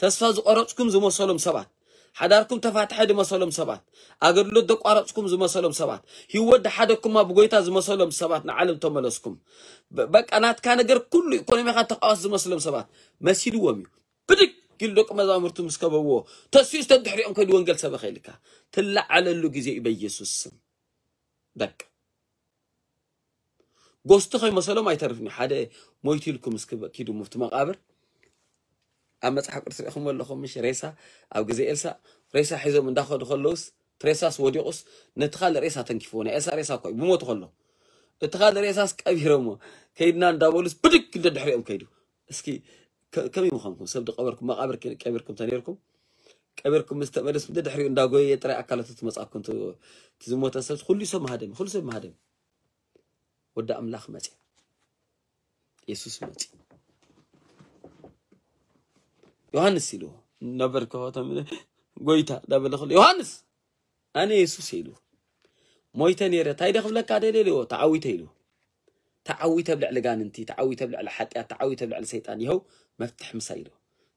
ተስፋ ዝቆረፅኩም ዝመሰሎም ሰባት ሓዳርኩም ተፋትሐ ዝመሰሎም ሰባት ኣገልግሎት ዘቋረፅኩም ዝመሰሎም ሰባት ህይወት ድሓደኩማ ብጎይታ ዝመሰሎም ሰባት ንዓለም ተመለስኩም በቃ ናትካ ነገር ኩሉ ኢኮኖሚካ ተቃወስ ዝመስሎም ሰባት መሲልዎም እዩ ብድግ ኢሉ ደቂ መዛሙርቱ ምስ ከበብዎ ተስዩ ዝተድሕሪኦም ከይዱ ወንጌል ሰበኸ ኢልካ ትለዓለሉ ግዜ እዩ በኢየሱስ ስም በቃ ጎስቲ ከይመሰሎም ኣይተርፍን እዩ ሓደ ሞይቱ ኢልኩም እስኪ ኪዱ ሙፍቲ መቃብር ኣብ መፅሓፍ ቅዱስ ሪኢኹም ኣለኹም ምሽ ሬሳ ኣብ ግዜ ኤልሳ ሬሳ ሒዞም እንዳኸዱ ከለውስ ትሬሳስ ወዲቑስ ነቲ ካልእ ሬሳ ተንኪፍዎ ናይ ኤልሳ ሬሳ እኮ እዩ ብሞቱ ከሎ እቲ ካልእ ሬሳስ ቀቢሮሞ ከይድና እንዳበሉስ ብድግ እንደ ድሕሪኦም ከይዱ እስኪ ከመይ ምዃንኩም ሰብ ዝቀበርኩም መቃብር ቀቢርኩም ተነርኩም ቀቢርኩም ምስ ተመለስኩም ድሕሪኡ እንዳጎየ ጥራይ ኣካላቱ ትመጻኩም ዝሞተ ሰብ ኩሉ ሰብ ማህደም ኩሉ ሰብ ማህደም ወዲ ኣምላኽ መጽ የሱስ መጽ ዮሃንስ ኢልዎ። ነበር ከፈቶም ጎይታ ዳበለ ከሎ ዮሃንስ ኣነ የሱስ ኢሉ። ሞይተ ነይረ እንታይ ደ ክብለካ ደልየ ኢልዎ። ተዓዊተ ኢሉ። ተዓዊተ ኣብ ልዕሊ ጋንንቲ፣ ተዓዊተ ኣብ ልዕሊ ሓጢኣት፣ ተዓዊተ ኣብ ልዕሊ ሰይጣን። ይኸው መፍትሕ ምሳይ ኢሉ።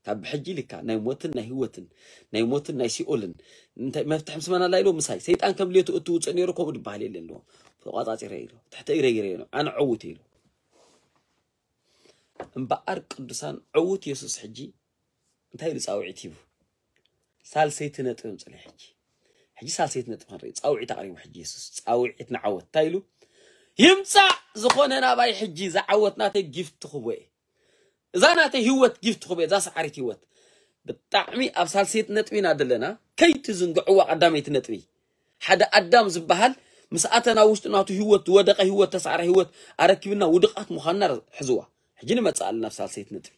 ካብ ብሕጂ ኢልካ ናይ ሞትን ናይ ህይወትን፣ ናይ ሞትን ናይ ሲኦልን እንታይ መፍትሕ ምስ መን ኣላ ኢሉ ምሳይ። ሰይጣን ከም ድሌቱ እትውፅእ ነይሩ ከምኡ ድበሃል የለን ኢልዎ። ተቋፃፂረ ኢሉ። ትሕቲ እግረ ገይረ ኢሉ። ኣነ ዕውት ኢሉ። እምበኣር ቅዱሳን ዕውት የሱስ ሕጂ እንታይ ኢሉ ጻውዒት ሂቡ? ሳልሰይቲ ነጥቢ ምጽለይ ሕጂ። ሕጂ ሳልሰይቲ ነጥቢ ክንርኢ። ጻውዒት ኣቕሪቡ ሕጂ የሱስ። ጻውዒት ንዓወት። እንታይ ኢሉ? ይምጻእ ዝኾነ ናባይ ሕጂ ዝዓወት ናተይ ጊፍት ክቦ እየ። እዛ ናተይ ህይወት ጊፍት ክቦ እየ። እዛ ሰዓሪት ህይወት። ብጣዕሚ ኣብ ሳልሰይቲ ነጥቢ ኢና ዘለና። ከይትዝንግዕዋ ቀዳመይቲ ነጥቢ። ሓደ ኣዳም ዝበሃል ምስ ኣተ ናብ ውሽጢ ናቱ ህይወት ዝወደቐ ህይወት ተሳዕረ ህይወት ኣረኪብና ውድቓት ምዃንና ሕዝዋ። ሕጂ ንመጽእ ኣለና ኣብ ሳልሰይቲ ነጥቢ።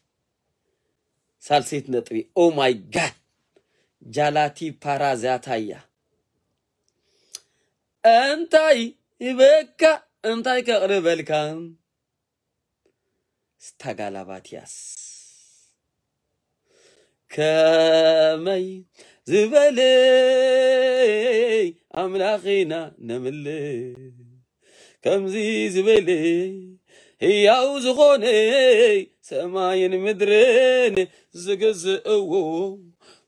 ሳልሰይቲ ነጥቢ። Oh my God። ጃላቲ ፓራዛታያ። እንታይ ይበካ እንታይ ከቕርበልካ? ስታጋላባትያስ። ከመይ ዝበለ ኣምላኽ ኢና ነምልኽ? ከምዚ ዝበለ ህያው ዝኾነ ሰማይን ምድርን ዝግዝእዎ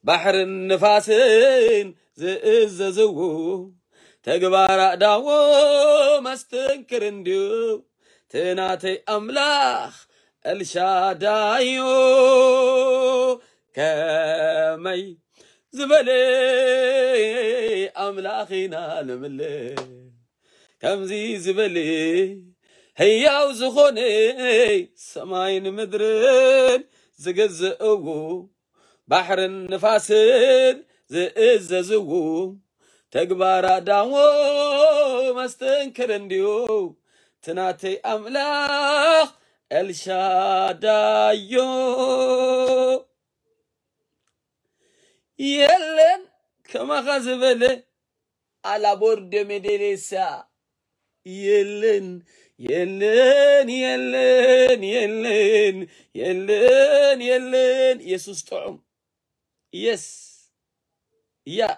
ባሕርን ንፋስን ዝእዘዝዎ ተግባር ኣእዳዎ መስተንክር እንድዩ። ትናተይ ኣምላኽ ኤልሻዳዮ ከመይ ዝበለ ኣምላኽ ኢና ንምልኽ። ከምዚ ዝበለ ህያው ዝኾነ ሰማይን ምድርን ዝገዝእዎ ባሕርን ንፋስን ዝእዘዝዎ ተግባር ኣዳሞ መስተንክር እንድዩ። ትናተይ ኣምላኽ ኤልሻዳዮ የለን ከማኻ ዝበለ ኣላቦርዶ ሜዴሌሳ የለን የለን የለን የለን የለን የለን። የሱስ ጥዑም። የስ ያ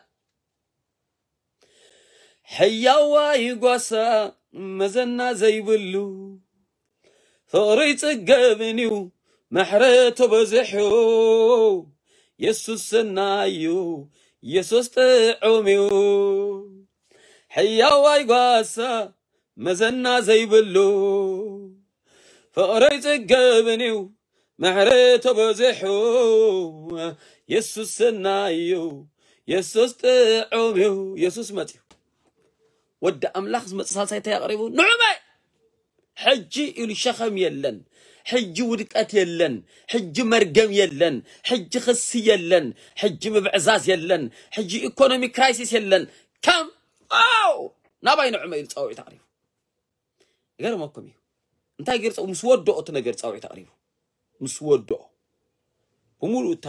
ሕያዋይ ጓሳ መዘና ዘይብሉ ፍቕሪ ይጽገብን እዩ ምሕረቱ በዚሑ። የሱስ ሰናይ እዩ፣ የሱስ ጥዑም እዩ። ሕያዋይ ጓሳ መዘና ዘይብሉ ፍቕሪ ይጽገብን እዩ ምሕረቱ በዚሑ። የሱስ ሰናይ እዩ፣ የሱስ ጥዑም እዩ። የሱስ መጽዩ። ወዲ ኣምላኽ ዝመጽእ ሳልሳይ እንታይ ኣቕሪቡ? ንዑመ ሕጂ ኢሉ ሸኸም የለን። ሕጂ ውድቀት የለን። ሕጂ መርገም የለን። ሕጂ ክሲ የለን። ሕጂ ምብዕዛዝ የለን። ሕጂ ኢኮኖሚ ክራይሲስ የለን። ከም ኣው ናባይ ንዑመ ኢሉ ጻውዒት ኣቕሪቡ። ይገርመኩም እዩ። እንታይ ገይሩ ጸው-፣ ምስ ወደኦ እቲ ነገር ጻውዒት ኣቕሪቡ። ምስ ወደኦ። ብምሉእ እታ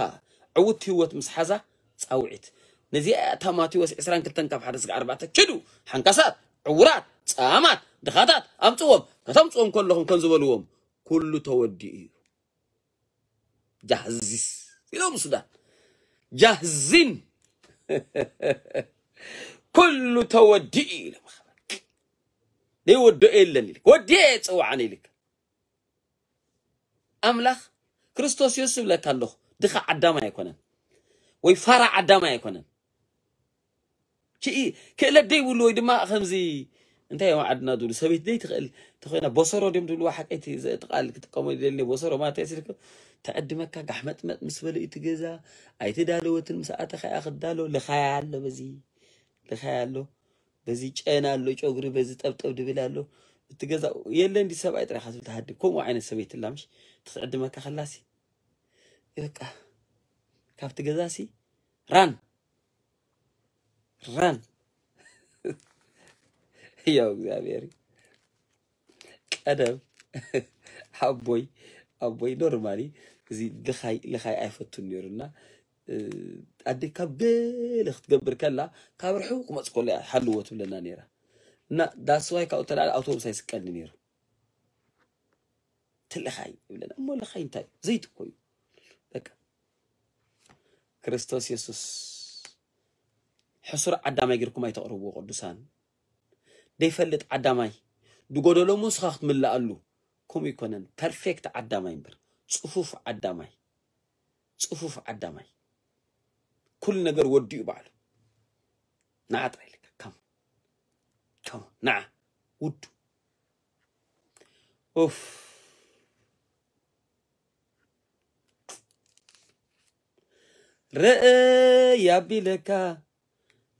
ዕውት ህይወት ምስ ሓዛ ጻውዒት። ነዚኣ እያ እታ ማቴዎስ ዕስራን ክልተን ካብ ሓደ እስከ ኣርባዕተ፣ "ኪዱ፣ ሓንካሳት፣ ዕውራት፣ ጸማማት፣ ድኻታት፣ ኣምጽዎም። ከተምጽዎም ከለኹም ከም ዝበልዎም፣ ኩሉ ተወዲኡ እዩ። ጃህዚስ" ኢሎም ሱዳን። ጃህዚን። ኩሉ ተወዲኡ ኢሎም። ዘይወድኦ የለን ኢልክ። ወዲኤ እየ ዝጽውዓን ኢልክ። ኣምላኽ ክርስቶስ የሱስ እብለካ ኣለኹ። ድኻ ዓዳማይ ኣይኮነን። ወይ ፋራ ዓዳማይ ኣይኮነን። ክኢ-፣ ክእለት ደይብሉ ወይ ድማ ከምዚ እንታይ እዮም ዓድና ዝብሉ ሰበይቲ ደይ ትኽእል ተኾይና ቦሰሮ ድዮም ዝብልዋ ሓቀይቲ ዘእቲ ቃል ክጥቀሞ ይደሊ ቦሰሮ ማለት ስልክ ትዕድመካ ጋሕመጥመጥ ምስ በለ እቲ ገዛ ኣይተዳለወትን ምስ ኣተኻ እያ ክዳሎ ልኻያ ኣሎ በዚ ልኻያ ኣሎ በዚ ጨና ኣሎ ጨጉሪ በዚ ጠብጠብ ድብል ኣሎ እቲ ገዛ የለን ዲ ሰብኣይ ጥራይ ካብ ትብል ትሃድም ከምኡ ዓይነት ሰበይቲ ላ ምሽ ትዕድመካ ከላሲ በቃ ካብቲ ገዛሲ ራን ራን ያው እግዚኣብሔር ቀደም ኣቦይ ኣቦይ ኖርማሊ እዚ ልኻይ ልኻይ ኣይፈቱን ነይሩና ኣደ ካብ ገለ ክትገብር ከላ ካብ ርሑ ክመፅ ከሎ እያ ሓልዎ ትብለና ነይራ እና ዳስዋይ ካብኡ ተላለ ኣውቶቡስ ኣይስቀልኒ ነይሩ ትልኻይ ይብለና እሞ ልኻይ እንታይ ዘይትኮዩ በቃ ክርስቶስ የሱስ ሕሱር ዓዳማይ ጌርኩም ኣይተቕርብዎ ቅዱሳን። ደይፈልጥ ዓዳማይ፣ ድጎደሎ እሞ ንስኻ ክትምልኣሉ። ከምኡ ይኮነን። ፐርፌክት ዓዳማይ እምበር፣ ጽፉፍ ዓዳማይ። ጽፉፍ ዓዳማይ። ኩሉ ነገር ወዲኡ ባዕሉ። ንዓ ጥራይ ኢልካ፣ ካም። ካም፣ ንዓ። ውዱ። ኡፍ። ረእ ያቢለካ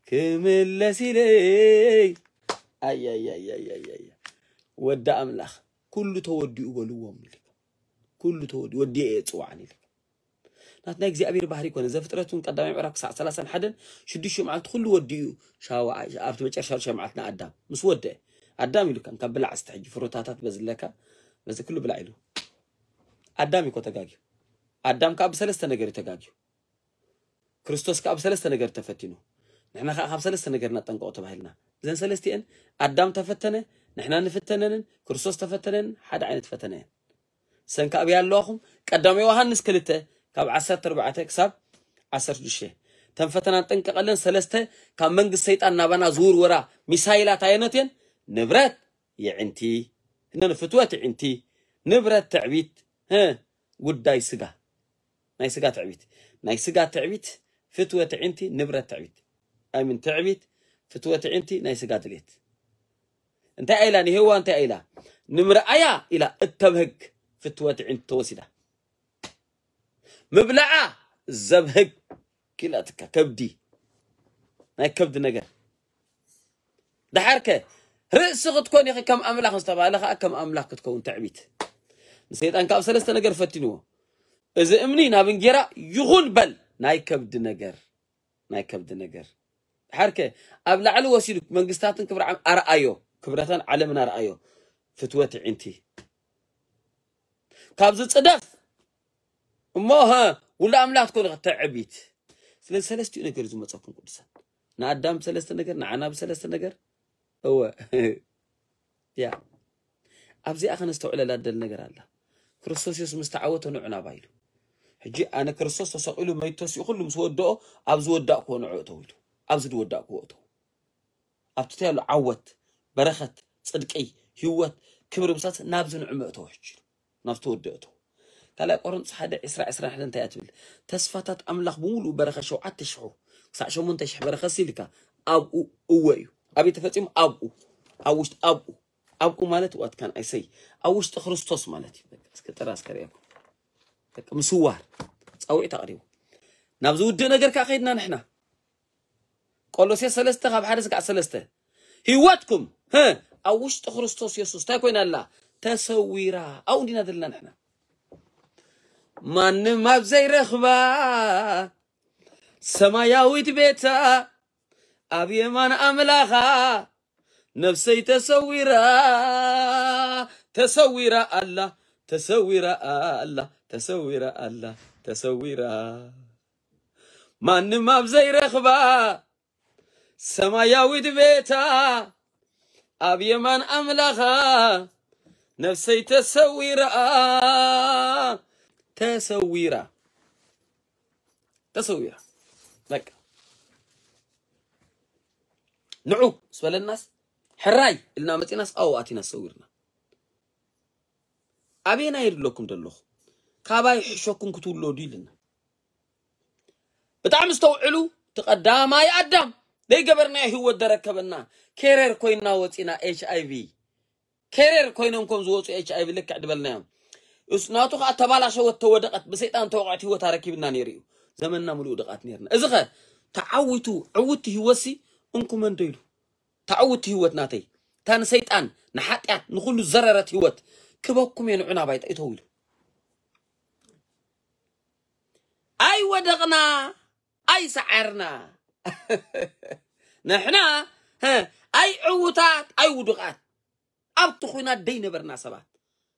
ክምለስ ኢለይ። ኣያያያያያ። ወዲ ኣምላኽ፣ ኩሉ ተወዲኡ በልዎም ኢልካ። ኩሉ ተወዲኡ፣ ወዲኤ እየ ጽዋዕን ኢልካ። ናትና እግዚኣብሔር ባህሪ ኮነ። ዘፍጥረት እውን ቀዳማይ ምዕራፍ ክሳዕ ሰላሳን ሓደን ሽዱሽተ መዓልቲ ኩሉ ወዲኡ፣ ሻውዓይ፣ ኣብቲ መጨረሻ ሽዱሽተ መዓልቲ ንኣዳም ምስ ወደአ፣ ኣዳም ኢሉካ፣ ካብ ብላዕ እስተ ሕጂ ፍሩታታት በዝለካ፣ በዚ ኩሉ ብላዕ ኢሉ። ኣዳም እዩ እኮ ተጋግዩ። ኣዳም ካብ ሰለስተ ነገር እዩ ተጋግዩ። ክርስቶስ ከኣ ብሰለስተ ነገር ተፈቲኑ። ንሕና ከኣ ካብ ሰለስተ ነገር ነጠንቀቑ ተባሂልና። እዘን ሰለስቲኤን ኣዳም ተፈተነ፣ ንሕና ንፍተነንን ክርስቶስ ተፈተነን ሓደ ዓይነት ፈተነ እየን። ሰንካ ኣብያ ኣለዋኹም። ቀዳማይ ዮሃንስ ክልተ ካብ ዓሰርተ ኣርባዕተ ክሳብ ዓሰርተ ሽዱሽተ። እተን ፈተና ንጠንቀቐለን ሰለስተ ካብ መንግስቲ ሰይጣን ናባና ዝውርወራ ሚሳይላት ኣየኖት እየን? ንብረት፣ የዕንቲ፣ እነን ፍትወት የዕንቲ፣ ንብረት፣ ትዕቢት፣ እ፣ ጉዳይ ስጋ። ናይ ስጋ ትዕቢት። ናይ ስጋ ትዕቢት፣ ፍትወት የዕንቲ፣ ንብረት ትዕቢት። ኣይምን ትዕቢት፣ ፍትወት የዕንቲ፣ ናይ ስጋ ድሌት። እንታይ ኢላ ንሄዋ እንታይ ኢላ? ንምርኣያ ኢላ እተብህግ ፍትወት የዕንቲ ተወሲዳ። ምብላዓ ዘብህግ ኪላትካ ከብዲ። ናይ ከብዲ ነገር። ደሓርከ ርእሲ ክትኮን ኢኺ ከም ኣምላኽ ዝተባህለ ከኣ ከም ኣምላኽ ክትከውን ትዕቢት። ንሰይጣን ካብ ሰለስተ ነገር ፈቲንዎ። እዚ እምኒ ናብ እንጌራ ይኹን በል፣ ናይ ከብዲ ነገር፣ ናይ ከብዲ ነገር። ደሓርከ ኣብ ላዕሊ ወሲዱ መንግስታትን ክብሪ ዓለም ኣርኣዮ፣ ክብረታን ዓለምን ኣርኣዮ። ፍትወት የዕንቲ። ካብዚ ጽደፍ እሞ፣ ሀ፣ ውሉድ ኣምላኽ ትኮኑ ትዕቢት። ስለዚ ሰለስቲኡ ነገር እዩ ዝመጸኩም ቅዱሳን። ንኣዳም ብሰለስተ ነገር፣ ንዓና ብሰለስተ ነገር። እወ። ያ። ኣብዚኣ ከነስተውዕለላ ደል ነገር ኣላ። ክርስቶስ የሱስ ምስ ተዓወተ ንዑ ናባይ ኢሉ። ሕጂ ኣነ ክርስቶስ ተሰቒሉ መይቱ ተሲኡ ኩሉ ምስ ወደኦ ኣብ ዝወዳእክዎ ንዑ እተው ኢሉ። ኣብዚ ዝወዳእክዎ እተው። ኣብቲ እንታይ ኣሎ? ዓወት፣ በረኸት፣ ጽድቂ፣ ህይወት፣ ክብሪ ምሳት ናብዚ ንዑ ምእተው ሕጂ። ናብ ዝተወደእቶ። ካልኣይ ቆሮንቶስ ሓደ ዕስራ ዕስራን ሓደን እንታይ እያ ትብል? ተስፋታት ኣምላኽ ብምሉኡ በረኸ ሸውዓተ ሽሕ ክሳዕ ሸሞንተ ሽሕ በረኸ ሲልካ ኣብኡ እወ እዩ። ኣበይ ተፈጺሙ? ኣብኡ። ኣብ ውሽጢ ኣብኡ። ኣብኡ ማለት what can I say? ኣብ ውሽጢ ክርስቶስ ማለት እዩ። በቃ እስከ ጥራ እስከ ርእየኩም። በቃ ምስዋር። ጻውዒት ኣቕሪቡ። ናብ ዝውድእ ነገር ከኣ ከይድና ንሕና። ቆሎሴ ሰለስተ ካብ ሓደ ስጋዕ ሰለስተ። ህይወትኩም፣ ህ፣ ኣብ ውሽጢ ክርስቶስ የሱስ እንታይ ኮይና ኣላ? ተሰዊራ። ኣብኡ እንዲና ዘለና ንሕና። ማንም ኣብ ዘይረኽባ ሰማያዊት ቤታ ኣብ የማን ኣምላኻ ነፍሰይ ተሰዊራ፣ ተሰዊራ ኣላ፣ ተሰዊራ ኣላ፣ ተሰዊራ ኣላ፣ ተሰዊራ። ማንም ኣብ ዘይረኽባ ሰማያዊት ቤታ ኣብ የማን ኣምላኻ ነፍሰይ ተሰዊራ፣ ተሰዊራ፣ ተሰዊራ። በቃ ንዑ ስበለናስ ሕራይ ኢልና መጺናስ ኣብኡ ኣቲና ተሰዊርና። ኣበየናይ የድለኩም ዘለኹ? ካባይ ሕሸኩም ክትውለዱ ኢልና። ብጣዕሚ ዝተውዕሉ፣ እቲ ቀዳማይ ኣዳም ዘይገበርናዮ ህይወት ደረከበና። ኬሬር ኮይና ወፂና ኤች ኣይ ቪ። ኬሬር ኮይኖም ከም ዝወፁ ኤች ኣይ ቪ ልክዕ ድበልናዮም። እስ ናቱ ከዓ ተባላሸወት፣ ተወደቐት፣ ብሰይጣን ተወቕዐት ህይወት ኣረኪብና ነይሩ እዩ። ዘመንና ምሉእ ድቓት ነይርና። እዚ ኸ ተዓዊቱ ዕውቲ ህይወትሲ እንኩመንዶ ኢሉ። ተዓውቲ ህይወት ናተይ። እታ ንሰይጣን፣ ንሓጢኣት፣ ንኹሉ ዘረረት ህይወት ክበኩም እየ፣ ንዑ ናባይ ጠይተው ኢሉ። ኣይወደቕና፣ ኣይሰዓርና። ንሕና፣ ሀ፣ ኣይ ዕውታት፣ ኣይ ውዱቓት። ኣብቲ ኹናት ደይነበርና ሰባት።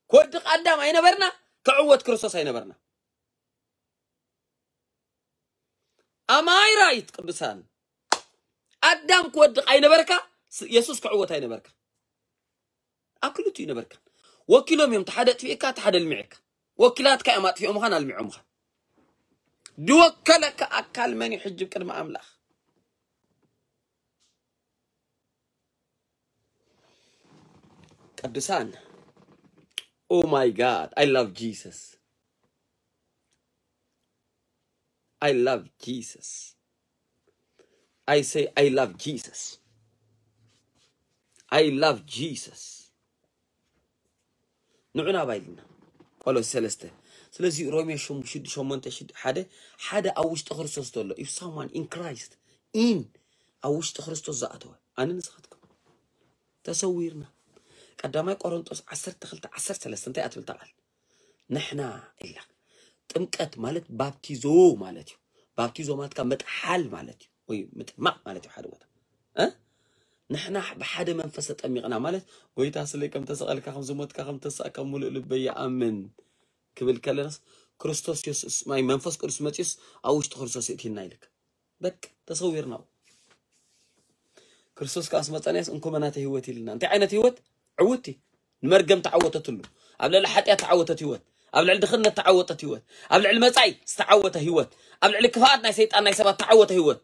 ክወድቕ ኣዳም ኣይነበርና፣ ክዕወት ክርስቶስ ኣይነበርና። ኣማይ ራይት ቅዱሳን። ኣዳም ክወድቕ ኣይነበርካ፣ ስ-፣ የሱስ ክዕወት ኣይነበርካ። ኣብ ክልቲኡ ነበርካ። ወኪሎም እዮም፣ እቲ ሓደ ኣጥፊእካ፣ እቲ ሓደ ኣልሚዕካ። ወኪላትካ እዮም ኣጥፊኦምኻን ኣልሚዖምኻን። ዝወከለካ ኣካል መን እዩ ሕጂ ቅድሚ ኣምላኽ? ቅዱሳን። Oh my God, I love Jesus. I love Jesus. I say, I love Jesus. I love Jesus. ንዑ ናባይ ኢልና። ቆሎስ ሰለስተ። ስለዚ ሮሜ ሸም-፣ ሽድ-፣ ሸሞንተ ሽድ-፣ ሓደ፣ ሓደ ኣብ ውሽጢ ክርስቶስ ዘሎ፣ if someone in Christ, in፣ ኣብ ውሽጢ ክርስቶስ ዝኣተወ፣ ኣነ ንስኻትኩም ተሰዊርና። ቀዳማይ ቆሮንጦስ ዓሰርተ ክልተ ዓሰርተ ሰለስተ እንታይ እያ ትብል እታ ቃል? ንሕና ኢላ። ጥምቀት ማለት ባፕቲዞ ማለት እዩ። ባፕቲዞ ማለት ካብ ምጥሓል ማለት እዩ፣ ወይ ምጥማቕ ማለት እዩ። ሓደ ቦታ እ? ንሕና ብሓደ መንፈስ ተጠሚቕና ማለት፣ ጎይታ ስለይ ከም ተሰቐልካ፣ ከም ዝሞትካ፣ ከም ተሳእካ ምሉእ ልበይ ይኣምን ክብል ከለናስ፣ ክርስቶስ የሱስ ማይ መንፈስ ቅዱስ መጺኡስ ኣብ ውሽጢ ክርስቶስ የእቲና ኢልካ። በቃ ተሰዊርና። ክርስቶስ ከኣ ስመጸናስ እንኮ መናተ ህይወት ኢልና። እንታይ ዓይነት ህይወት? ዕውቲ። ንመርገም ተዓወተትሉ። ኣብ ልዕሊ ሓጢኣት ተዓወተት ህይወት። ኣብ ልዕሊ ድኽነት ተዓወተት ህይወት። ኣብ ልዕሊ መጻኢ ዝተዓወተ ህይወት። ኣብ ልዕሊ ክፍኣት ናይ ሰይጣን ናይ ሰባት ተዓወተ ህይወት።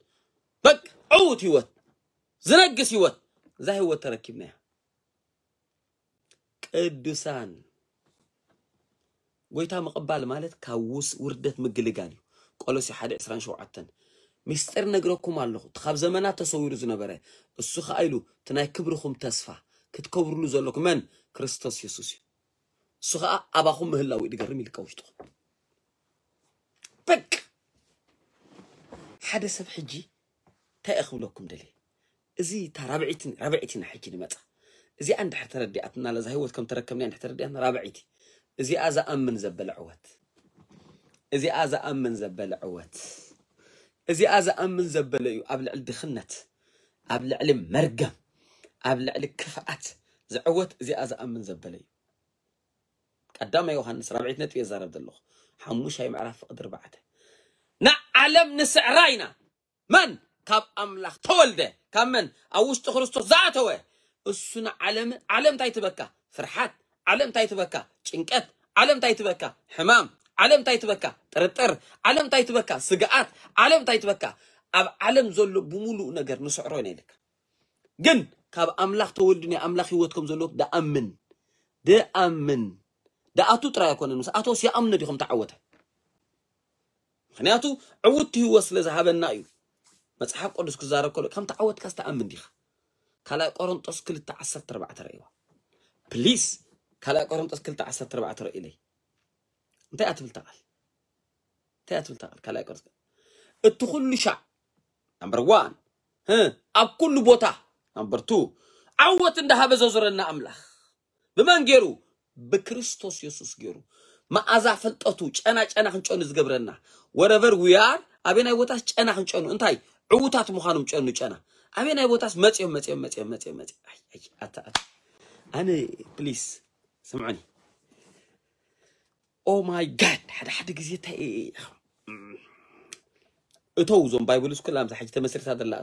በቃ ዕውት ህይወት። ዝነግስ ህይወት። እዛ ህይወት ተረኪብናያ። ቅዱሳን፣ ጎይታ ምቕባል ማለት ካብ ውስ-፣ ውርደት ምግልጋል እዩ። ቆሎሴ ሓደ ዕስራን ሸውዓተን። ምስጢር ነግረኩም ኣለኹ፣ እቲ ካብ ዘመናት ተሰዊሩ ዝነበረ፣ እሱ ኸኣ ኢሉ፣ እቲ ናይ ክብርኹም ተስፋ፣ ክትከብሩሉ ዘለኩም መን? ክርስቶስ የሱስ እዩ። እሱ ኸኣ ኣባኹም ምህላው እዩ ዝገርም ኢልካ ውሽጥኹም። በቃ፣ ሓደ ሰብ ሕጂ እንታይ እየ ክብለኩም ደልየ? እዚ እታ ራብዒትን-፣ ራብዒትና ሕጂ ንመጻ። እዚኣ እንድሕር ተረዲኣትና፣ ለዛ ህይወት ከም ተረከብና እንድሕር ተረዲኣትና፣ ራብዒቲ። እዚኣ ዝኣምን ዘበለ ዕወት። እዚኣ ዝኣምን ዘበለ ዕወት። እዚኣ ዝኣምን ዘበለ እዩ ኣብ ልዕሊ ድኽነት፣ ኣብ ልዕሊ መርገም፣ ኣብ ልዕሊ ክፍኣት ዝዕወት እዚኣ ዝኣምን ዘበለ እዩ። ቀዳማይ ዮሃንስ ራብዒት ነጥቢ እየ ዝዛረብ ዘለኹ። ሓሙሻይ ምዕራፍ ፍቕዲ ኣርባዕተ። ንዓለም ንስዕራ ኢና። መን? ካብ ኣምላኽ ተወልደ። ካብ መን? ኣብ ውሽጢ ክርስቶስ ዝኣተወ። እሱ ንዓለም፣ ዓለም እንታይ ትበካ? ፍርሓት። ዓለም እንታይ ትበካ? ጭንቀት። ዓለም እንታይ ትበካ? ሕማም። ዓለም እንታይ ትበካ? ጥርጥር። ዓለም እንታይ ትበካ? ስግኣት። ዓለም እንታይ ትበካ? ኣብ ዓለም ዘሎ ብምሉእ ነገር ንስዕሮ ኢና ኢልካ። ግን ካብ ኣምላኽ ተወልዱ ናይ ኣምላኽ ህይወት ከም ዘለዎ ደኣምን። ደኣምን። ደኣቱ ጥራይ ኣይኮነን፣ ምስ ኣቶስ ይኣምኖ ድዩ ከም ተዓወተ? ምኽንያቱ ዕውቲ ህይወት ስለ ዝሃበና እዩ። መጽሓፍ ቅዱስ ክዛረብ ከሎ ከም ተዓወትካ ዝተኣምን ዲኻ? ካልኣይ ቆሮንጦስ ክልተ ዓሰርተ ኣርባዕተ ረእይዋ። ፕሊስ፣ ካልኣይ ቆሮንጦስ ክልተ ዓሰርተ ኣርባዕተ ረእይለይ። እንታይ እያ ትብል እታ ቃል? እንታይ እያ ትብል እታ ቃል? ካልኣይ ቆሮንጦስ። እቲ ኩሉ ሻዕ፣ ናምበር ዋን፣ እ፣ ኣብ ኩሉ ቦታ፣ ናምበር ቱ፣ ዓወት እንዳሃበ ዘዙረና ኣምላኽ። ብመን ገይሩ? ብክርስቶስ የሱስ ገይሩ። መኣዛ ፍልጠቱ፣ ጨና ጨና ክንጨኑ ዝገብረና። Wherever we are፣ ኣበየናይ ቦታስ ጨና ክንጨኑ። እንታይ? ዕዉታት ምዃኖም ጨኑ ጨና። ኣበየናይ ቦታስ መጽዮም፣ መጽዮም፣ መጽዮም፣ መጽዮም፣ መጽዮም። ኣይ፣ ኣይ፣ ኣታ፣ ኣታ። ኣነ፣ ፕሊስ፣ ስምዑኒ። Oh my God፣ ሓደ ሓደ ግዜ እንታይ እተው፣ እዞም ባይብል ስኩል ኣብዛ ሕጂ ተመስሪታ ዘላ፣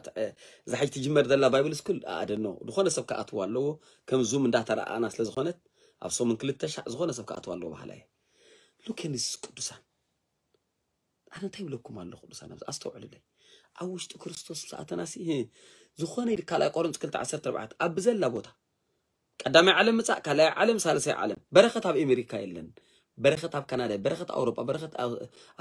እዛ ሕጂ ትጅመር ዘላ ባይብል ስኩል ኣደኖ ዝኾነ ሰብ ክኣትዋ ኣለዎ። ከም ዙም እንዳተረኣኣና ስለ ዝኾነት ኣብ ሰሙን ክልተ ሻዕ ዝኾነ ሰብ ክኣትዋ ኣለዎ በሃላይ። ሉክ ን ዚስ ቅዱሳን፣ ኣነ እንታይ ይብለኩም ኣለኹ ቅዱሳን፣ ኣብዚ ኣስተውዕሉለይ። ኣብ ውሽጢ ክርስቶስ ምስ ኣተናሲ፣ ህ፣ ዝኾነ ኢሉ ካልኣይ ቆሮንቶስ ክልተ ዓሰርተ ኣርባዕተ ኣብ ብዘላ ቦታ ቀዳማይ ዓለም ምጻእ፣ ካልኣይ ዓለም፣ ሳልሳይ ዓለም። በረኸት ኣብ ኣሜሪካ የለን። በረኸት ኣብ ካናዳ፣ በረኸት ኣውሮጳ፣ በረኸት ኣብ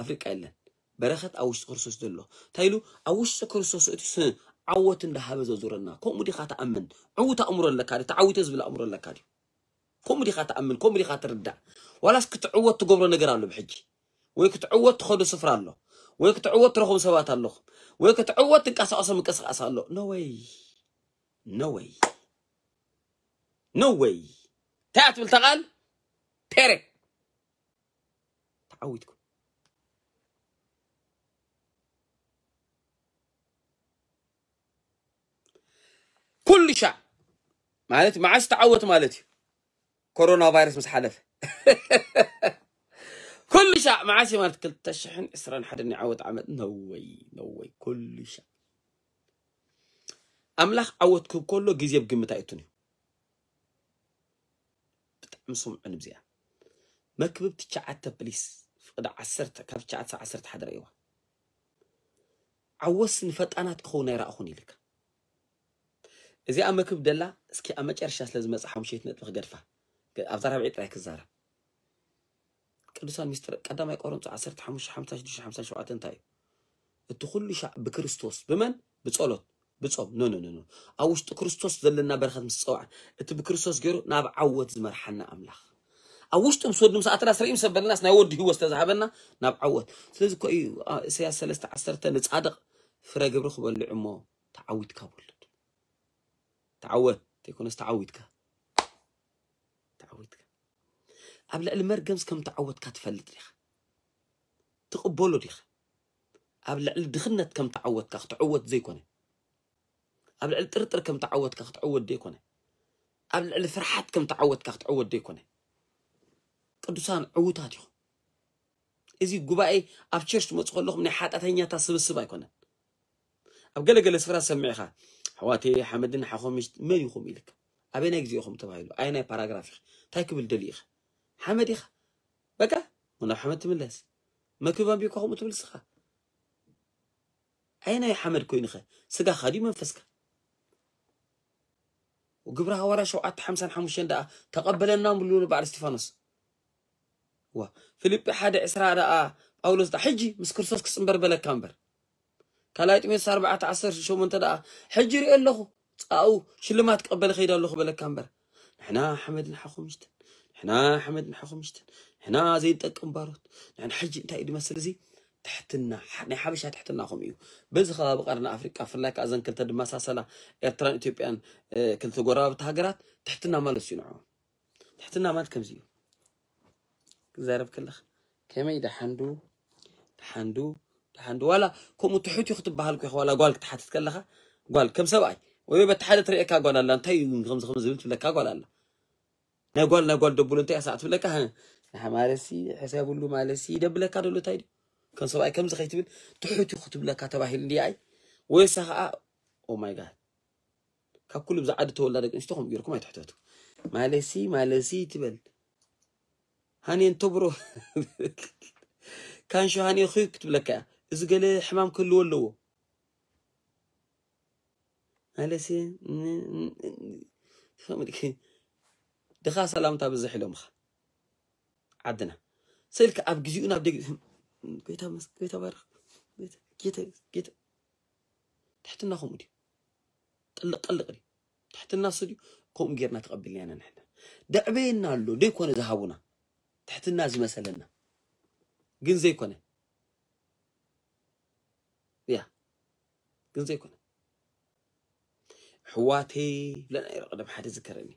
ኣፍሪቃ የለን። በረኸት ኣብ ውሽጢ ክርስቶስ ዘሎ። እንታይ ኢሉ? ኣብ ውሽጢ ክርስቶስ እቲ ስ-፣ ዓወት እንዳሃበ ዘዙረና። ከምኡ ዲኻ ትኣምን? ዕዉት ኣእምሮ ኣለካ ድዩ? ተዓዊተ ዝብል ኣእምሮ ኣለካ ድዩ? ከምኡ ዲኻ ትኣምን? ከምኡ ዲኻ ትርዳእ? ዋላስ ክትዕወት ትገብሮ ነገር ኣሎ ብሕጂ? ወይ ክትዕወት ትኸዶ ስፍራ ኣሎ? ወይ ክትዕወት ትረኽቦም ሰባት ኣለኹም? ወይ ክትዕወት ትንቀሳቐሶ ምንቅስቓስ ኣሎ? ኖ ወይ። ኖ ወይ። ኖ ወይ። እንታይ እያ ትብል እታ ቃል? ፔሬ። ተዓዊትኩም። ኩሉ ሻዕ ማለት መዓስ ተዓወት ማለት እዩ። ኮሮና ቫይረስ ምስ ሓለፈ። ኩሉ ሻዕ መዓስ እዩ ማለት ክልተ ሽሕን ዕስራን ሓደን ናይ ዓወት ዓመት። ኖ ወይ፣ ኖ ወይ። ኩሉ ሻዕ ኣምላኽ ዓወት ክህብ ከሎ ግዜ ብግምት ኣይእቱን እዩ። ብጣዕሚ ስምዑኒ ብዚኣ። መክብብ ትሽዓተ ፕሊስ፣ ፍቕዲ ዓሰርተ፣ ካብ ትሽዓተ ክሳብ ዓሰርተ ሓደ ረእይዋ። ዓወትስ ንፈጣናት ክኸውን ኣይረኣኹን ኢልካ። እዚኣ መክብ ደላ እስኪ ኣብ መጨረሻ ስለ ዝመጽእ ሓሙሸይቲ ነጥቢ ክገድፋ። ኣብዛ ራብዒ ጥራይ ክዛረብ። ቅዱሳን ሚስጥር ቀዳማይ ቆሮንቶስ ዓሰርተ ሓሙሽተ ሓምሳ ሽዱሽተ ሓምሳ ሸውዓተ እንታይ እዩ? እቲ ኩሉ ሻዕ ብክርስቶስ ብመን? ብጸሎት ብጾም። ኖ ኖ ኖ ኖ። ኣብ ውሽጢ ክርስቶስ ዘለና በረኸት ምስ ጸውዐ፣ እቲ ብክርስቶስ ገይሩ ናብ ዓወት ዝመርሓና ኣምላኽ፣ ኣብ ውሽጡ ምስ ወዲ ምስ ኣተና ስርኢም ሰበልናስ ናይ ወዲ ህይወት ዝተዛሃበና ናብ ዓወት። ስለዚ እኮ እዩ፣ አ፣ ኢሳያስ ሰለስተ ዓሰርተ ንጻድቕ ፍረ ግብሪ ክበልዕ እሞ ተዓዊትካ ብሉድ። ተዓወት ዘይኮነስ ተዓዊትካ። ተዓዊትካ። ኣብ ልዕሊ መርገምስ ከም ተዓወትካ ትፈልጥ ዲኻ? ትቕበሎ ዲኻ? ኣብ ልዕሊ ድኽነት ከም ተዓወትካ ክትዕወት ዘይኮነ፣ ኣብ ልዕሊ ጥርጥር ከም ተዓወትካ ክትዕወት ዘይኮነ፣ ኣብ ልዕሊ ፍርሓት ከም ተዓወትካ ክትዕወት ዘይኮነ፣ ቅዱሳን ዕዉታት ኢኹም። እዚ ጉባኤ ኣብ ቸርች ትመፁ ከለኹም ናይ ሓጢኣተኛታት ስብስብ ኣይኮነን። ኣብ ገለገለ ስፍራ ሰሚዕኻ ኣሕዋተይ ሓመድን ሓኾምሽ መን ኢኹም ኢልካ ኣበናይ ግዜ ኢኹም ተባሂሉ ኣየናይ ፓራግራፍ ኢኻ እንታይ ክብል ደልዩ ኢኻ ሓመድ ኢኻ በቃ ናብ ሓመድ ትምለስ መክብብ ኣንቢብካ ከምኡ ትብል ስኻ ኣየናይ ሓመድ ኮይኑኸ ስጋኻ ድዩ መንፈስካ ግብሪ ሃዋርያ ሸውዓተ ሓምሳን ሓሙሽተን ደኣ ተቐበለና ምሉ ንበዓል እስጢፋኖስ ዋ ፊልጲ ሓደ ዕስራ ደኣ ጳውሎስ ደኣ ሕጂ ምስ ክርስቶስ ክጽንበር በለካ እምበር ካልኣይ ጢሞቴዎስ ኣርባዕተ ዓሰርተ ሸሞንተ ደኣ ሕጂ ርኢ ኣለኹ ጻኡ ሽልማት ክቐበል ኸይድ ኣለኹ በለካ እምበር ንሕና ሓመድ ንሓኹምሽትን ንሕና ሓመድ ንሓኹምሽትን ንሕና ዘይንጠቅም ባሮት ንሕና ሕጂ እንታይ እዩ ዝመስል እዚ ትሕትና ናይ ሓበሻ ትሕትና ከምኡ እዩ በዚ ከባቢ ቀርኒ ኣፍሪቃ ብፍላይ ከዓ እዘን ክልተ ድመሳሰላ ኤርትራን ኢትዮጵያን ክልተ ጎረባብቲ ሃገራት ትሕትና ማለት እዩ ንዕኦም ትሕትና ማለት ከምዚ እዩ ክዛረብ ከለኻ ከመይ ደሓንዱ ደሓንዱ ደሓንዱ ዋላ ከምኡ ትሑት እዩ ክትበሃል ኮ ዋላ ጓል ክትሓትት ከለኻ ጓል ከም ሰብኣይ ወይ በቲ ሓደ ትርእየካ ጓል ኣላ እንታይ እዩ ከምዚ ከምዚ ዝብል ትብለካ ጓል ኣላ ናይ ጓል ናይ ጓል ደብሎ እንታይ ያሳዕ ትብለካ ማለሲ ሕሰብሉ ማለሲ ይደብለካ ደሎ እንታይ ድዩ ከም ሰብኣይ ከምዚ ከይትብል ትሑት እዩ ክትብለካ ተባሂሉ እንዲ ኣይ ወይሳ ከዓ ኦማይ ጋድ ካብ ኩሉ ብዛዓዲ ተወልዳ ደቂ ኣንስትዮ ከምኡ ገይርኩም ኣይትሕተቱ ማለሲ ማለሲ ትበል ሃኔ እንተብሮ ካንሾ ሃኔ ኹ ክትብለካ እያ እዚ ገለ ሕማም ክህልዎ ኣለዎ ማለሲ ድኻ ሰላምታ ብዝሕ ኢሎምኻ ዓድና ስእልካ ኣብ ግዜኡ ናብ ደግ ጎይታ ባርክ ትሕትና ከምኡ ድዩ ጥልቅ ጥልቅ ድዩ ትሕትና እሱ ድዩ ከምኡ ጌርና ተቐቢልና ኢና ንሕና ደዕበየና ኣሎ ደይኮነ ዝሃቡና ትሕትና ዝመሰለና ግን ዘይኮነ ያ ግን ዘይኮነ ኣሕዋተይ ብለና ይረ ቀደም ሓደ ዝከረኒ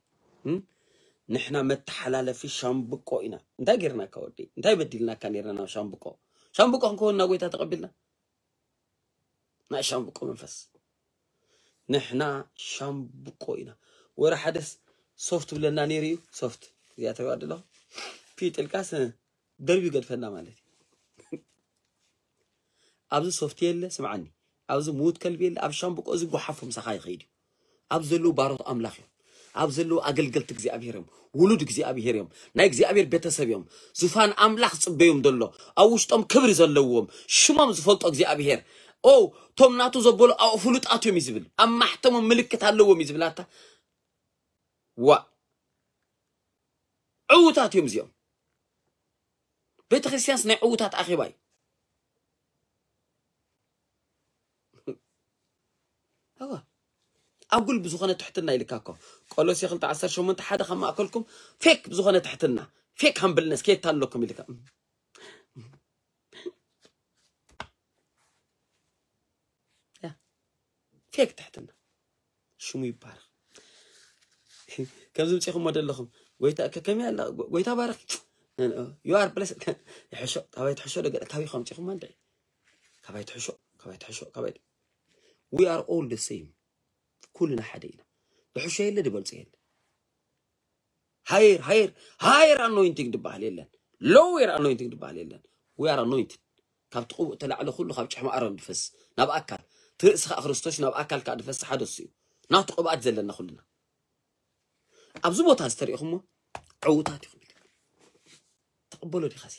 ንሕና መተሓላለፊ ሻምብቆ ኢና እንታይ ጌርናካ ወዲ እንታይ በዲልናካ ኔርና ናብ ሻምብቆ ሻምብቆ ክንከውን ናብ ጎይታ ተቐቢልና ናይ ሻምብቆ መንፈስ ንሕና ሻምብቆ ኢና ወረ ሓደስ ሶፍት ብለና ነይሩ እዩ ሶፍት እዚኣ ተሪዋ ኣለኹ ፊጥልቃስ ደርቢ ገድፈና ማለት እዩ ኣብዚ ሶፍት የለ ስምዓኒ ኣብዚ ምዉት ከልቢ የለ ኣብ ሻምብቆ እዚ ጓሓፎ ምሳኻ ይኸይድ እዩ ኣብ ዘለዉ ባሮት ኣምላኽ እዮም ኣብ ዘለዉ ኣገልገልቲ እግዚኣብሔር እዮም ውሉድ እግዚኣብሔር እዮም ናይ እግዚኣብሔር ቤተሰብ እዮም ዙፋን ኣምላኽ ጽበዮም ዘሎ ኣብ ውሽጦም ክብሪ ዘለዎም ሽሞም ዝፈልጦ እግዚኣብሔር ኦ ቶም ናቱ ዘበሉ ኣብኡ ፍሉጣት እዮም እዩ ዝብል ኣብ ማሕተሞም ምልክት ኣለዎም እዩ ዝብል ኣታ ዋ ዕዉታት እዮም እዚኦም ቤተክርስትያንስ ናይ ዕዉታት ኣኼባ እዩ ኣዋ ኣጉል ብዝኾነ ትሕትና ኢልካ እኮ ቆሎሴ ክልተ ዓሰርተ ሸሞንተ ሓደ ካብ ማእከልኩም ፌክ ብዝኾነ ትሕትና ፌክ ሃምብልነስ ከየታ ኣለኩም ኢልካ ፌክ ትሕትና ሽሙ ይባረክ ከምዚ ምፅኹም ወደ ኣለኹም ጎይታ ከከመይ ኣላ ጎይታ ባረክ you are blessed ይሕሾ ካባይ ትሕሾ ደገ ካበይ ከምፅኹም እንደ ካባይ ትሕሾ ካባይ ትሕሾ ካባይ we are all the same ኩልና ሓደ ኢና ዝሕሾ የለ ዝበልፆ የለ higher higher higher anointing ዝበሃል የለን lower anointing ዝበሃል የለን we are anointed ካብቲ ቅቡእ ተላዕለ ኩሉ ካብ ጭሕሚ ኣሮን ድፈስ ናብ ኣካል ትርእሲ ከዓ ክርስቶስ ናብ ኣካል ከዓ ድፈስ ሓደ እሱ እዩ ናቱ ቅብኣት ዘለና ኩልና ኣብዚ ቦታ ዝተሪእኹሞ ዕውታት ኢኹም ተቐበሎ ዲኻ ሲ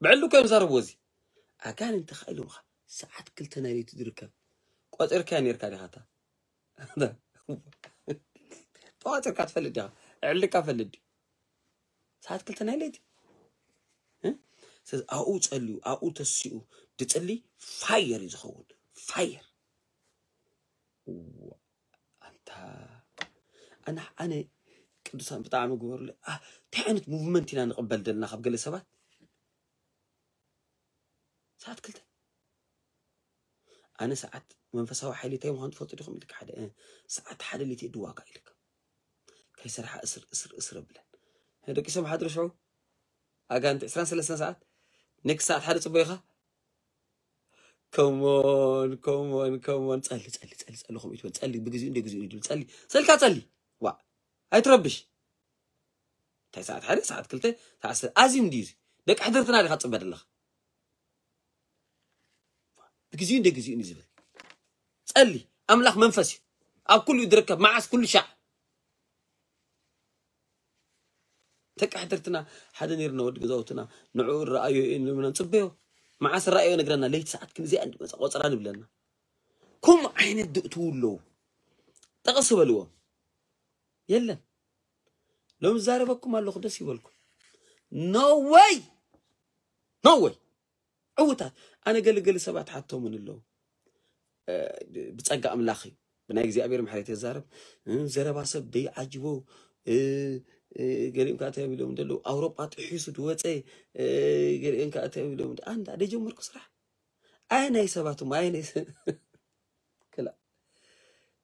ብዕሉ እኮ እዮም ዝዛረብዎ። እዚ ኣጋንንቲ ከ ኢሎምኻ ሰዓት ክልተ ናይ ለይቲ ዝርከብ ቆፂርካያ ነርካ ዲኻ? እታ ተዋፂርካ ትፈልጥ ዲኻ? ዕልካ ፈልጥ ድዩ? ሰዓት ክልተ ናይ ለይቲ እ? ስለዚ ኣብኡ ጸልዩ ኣብኡ ተሲኡ ድጽሊ ፋየር እዩ ዝኸውን። ፋየር ኣንታ ኣነ ኣነ ቅዱሳን ብጣዕሚ ግበሩለ። እንታይ ዓይነት ሙቭመንት ኢና ንቕበል ዘለና ካብ ገለ ሰባት? ሰዓት ክልተ ኣነ ሰዓት መንፈሳዊ ሓይሊ እንታይ ምዃኑ ትፈልጡ ዲኹም ኢልካ ሓደ እ፣ ሰዓት ሓደ ሊት ድዋጋ ኢልካ ከይሰርሓ እስር እስር እስር ብለን ደቂ ሰብ ሓድሪ ሽዑ ኣጋንቲ ዕስራን ሰለስተን ሰዓት ኔክስት ሰዓት ሓደ ጽበይኻ ከሞን ከሞን ከሞን ጸሊ ጸሊ ጸሊ ጸሊ ከምኡ ይትበል ጸሊ ብግዚኡ እንደ ግዚኡ ይትብል ጸሊ ሰልካ ጸሊ ዋ ኣይትረብሽ እንታይ ሰዓት ሓደ ሰዓት ክልተ ሰዓት ሰ- ኣዚም ድዩ እዚ ደቂ ሕድርትና ዲኻ ትጽበ ዘለኻ ብግዚኡ እንደ ግዚኡ እዩ ዝብል ጸሊ ኣምላኽ መንፈስ እዩ ኣብ ኩሉ ዝርከብ መዓስ ኩሉ ሻዕ ደቂ ሕድርትና ሓደ ነርና ወዲ ገዛውትና ንዕኡ ረኣዮ እዩ ንብና ንጽበዮ መዓስ ረኣዮ ነግረና ለይቲ ሰዓት ክንዚኣ እንድመጻ ቆጸራ ንብለና ከምኡ ዓይነት ድእትዉ ኣለዉ ጠቐስ በልዎም የለን ሎም ዝዛረበኩም ኣለኹ ደስ ይበልኩም no way no way ዕውታት ኣነ ገለገለ ሰባት ሓቶምን ኣለዉ ብፀጋ ኣምላኽ እዩ ብናይ እግዚኣብሔር ምሕረት የዛረብ ዘረባ ሰብ ደይዓጅቦ ገሊኦም ከዓ ተቢሎም ዘለዉ ኣውሮጳ ጥሒሱ ድወፀ ገሊኦም ከዓ ተቢሎም ኣንዳ ደጀመርኩ ስራሕ ኣየ ናይ ሰባት እሞ ኣየ ናይ ክላ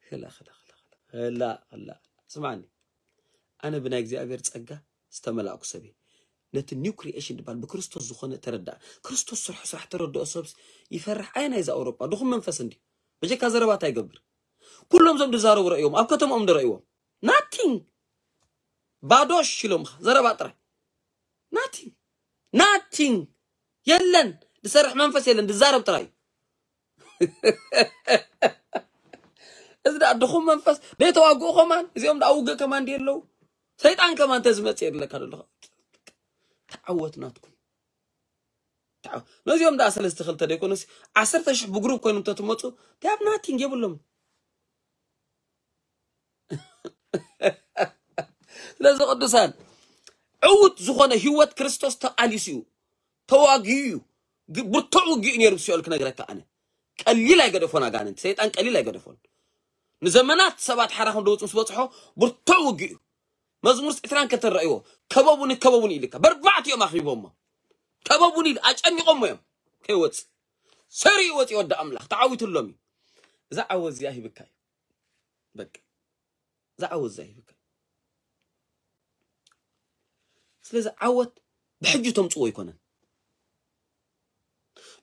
ክላ ክላ ክላ ክላ ክላ ስማዕኒ ኣነ ብናይ እግዚኣብሔር ፀጋ ዝተመላእኩ ሰብ እየ ነቲ ኒው ክሪኤሽን ዝበሃል ብክርስቶስ ዝኾነ ተረዳእ ክርስቶስ ስርሑ ስራሕ ተረድኦ ሰብ ይፈርሕ ኣየ ናይዚ ኣውሮጳ ድኹም መንፈስ እንዲ በጀካ ዘረባት ኣይገብር ኩሎም ዞም ድዛረቡ ረእዮም ኣብ ከተማኦም ድረእይዎም ናቲንግ ባዶሽ ኢሎምኻ ዘረባ ጥራይ ናቲንግ ናቲንግ የለን ድሰርሕ መንፈስ የለን ድዛረብ ጥራይ እዚ ደኣ ድኹም መንፈስ ደይተዋግኡ ከማን እዚኦም ደኣ ውግእ ከማን ድየ ኣለዉ ሰይጣን ከማን ተዝመጽእ የድለካ ደለኻ ተዓወት ናትኩም ተዓወት ነዚኦም ደኣ ሰለስተ ክልተ ደይኮኑስ ዓሰርተ ሽሕ ብግሩፕ ኮይኖም ተትመጹ they have nothing የብሎም ስለዚ ቅዱሳን ዕውት ዝኾነ ህይወት ክርስቶስ ተቃሊሱ እዩ ተዋጊኡ እዩ ብርቱዕ ውግእ ነይሩ ሲኦል ክነግረካ ኣነ ቀሊል ኣይገደፎን ኣጋንንቲ ሰይጣን ቀሊል ኣይገደፎን ንዘመናት ሰባት ሓራ ከም ደውፅ ምስ በፅሖ ብርቱዕ ውግእ እዩ መዝሙር ዕስራን ክልተን ረእይዎ ከበቡኒ ከበቡኒ ኢልካ በርባዕቲኦም ኣኽቢቦሞ ከበቡኒ ኢሉ ኣጨኒቆሞ እዮም ከይወፅ ሰሪኡ ወፂ ወዲ ኣምላኽ ተዓዊትሎም እዩ እዛ ዓወት እዚኣ ሂብካ እዩ በቃ እዛ ዓወት እዚኣ ሂብካ ስለዚ ዓወት ብሕጂ ተምፅዎ ኣይኮነን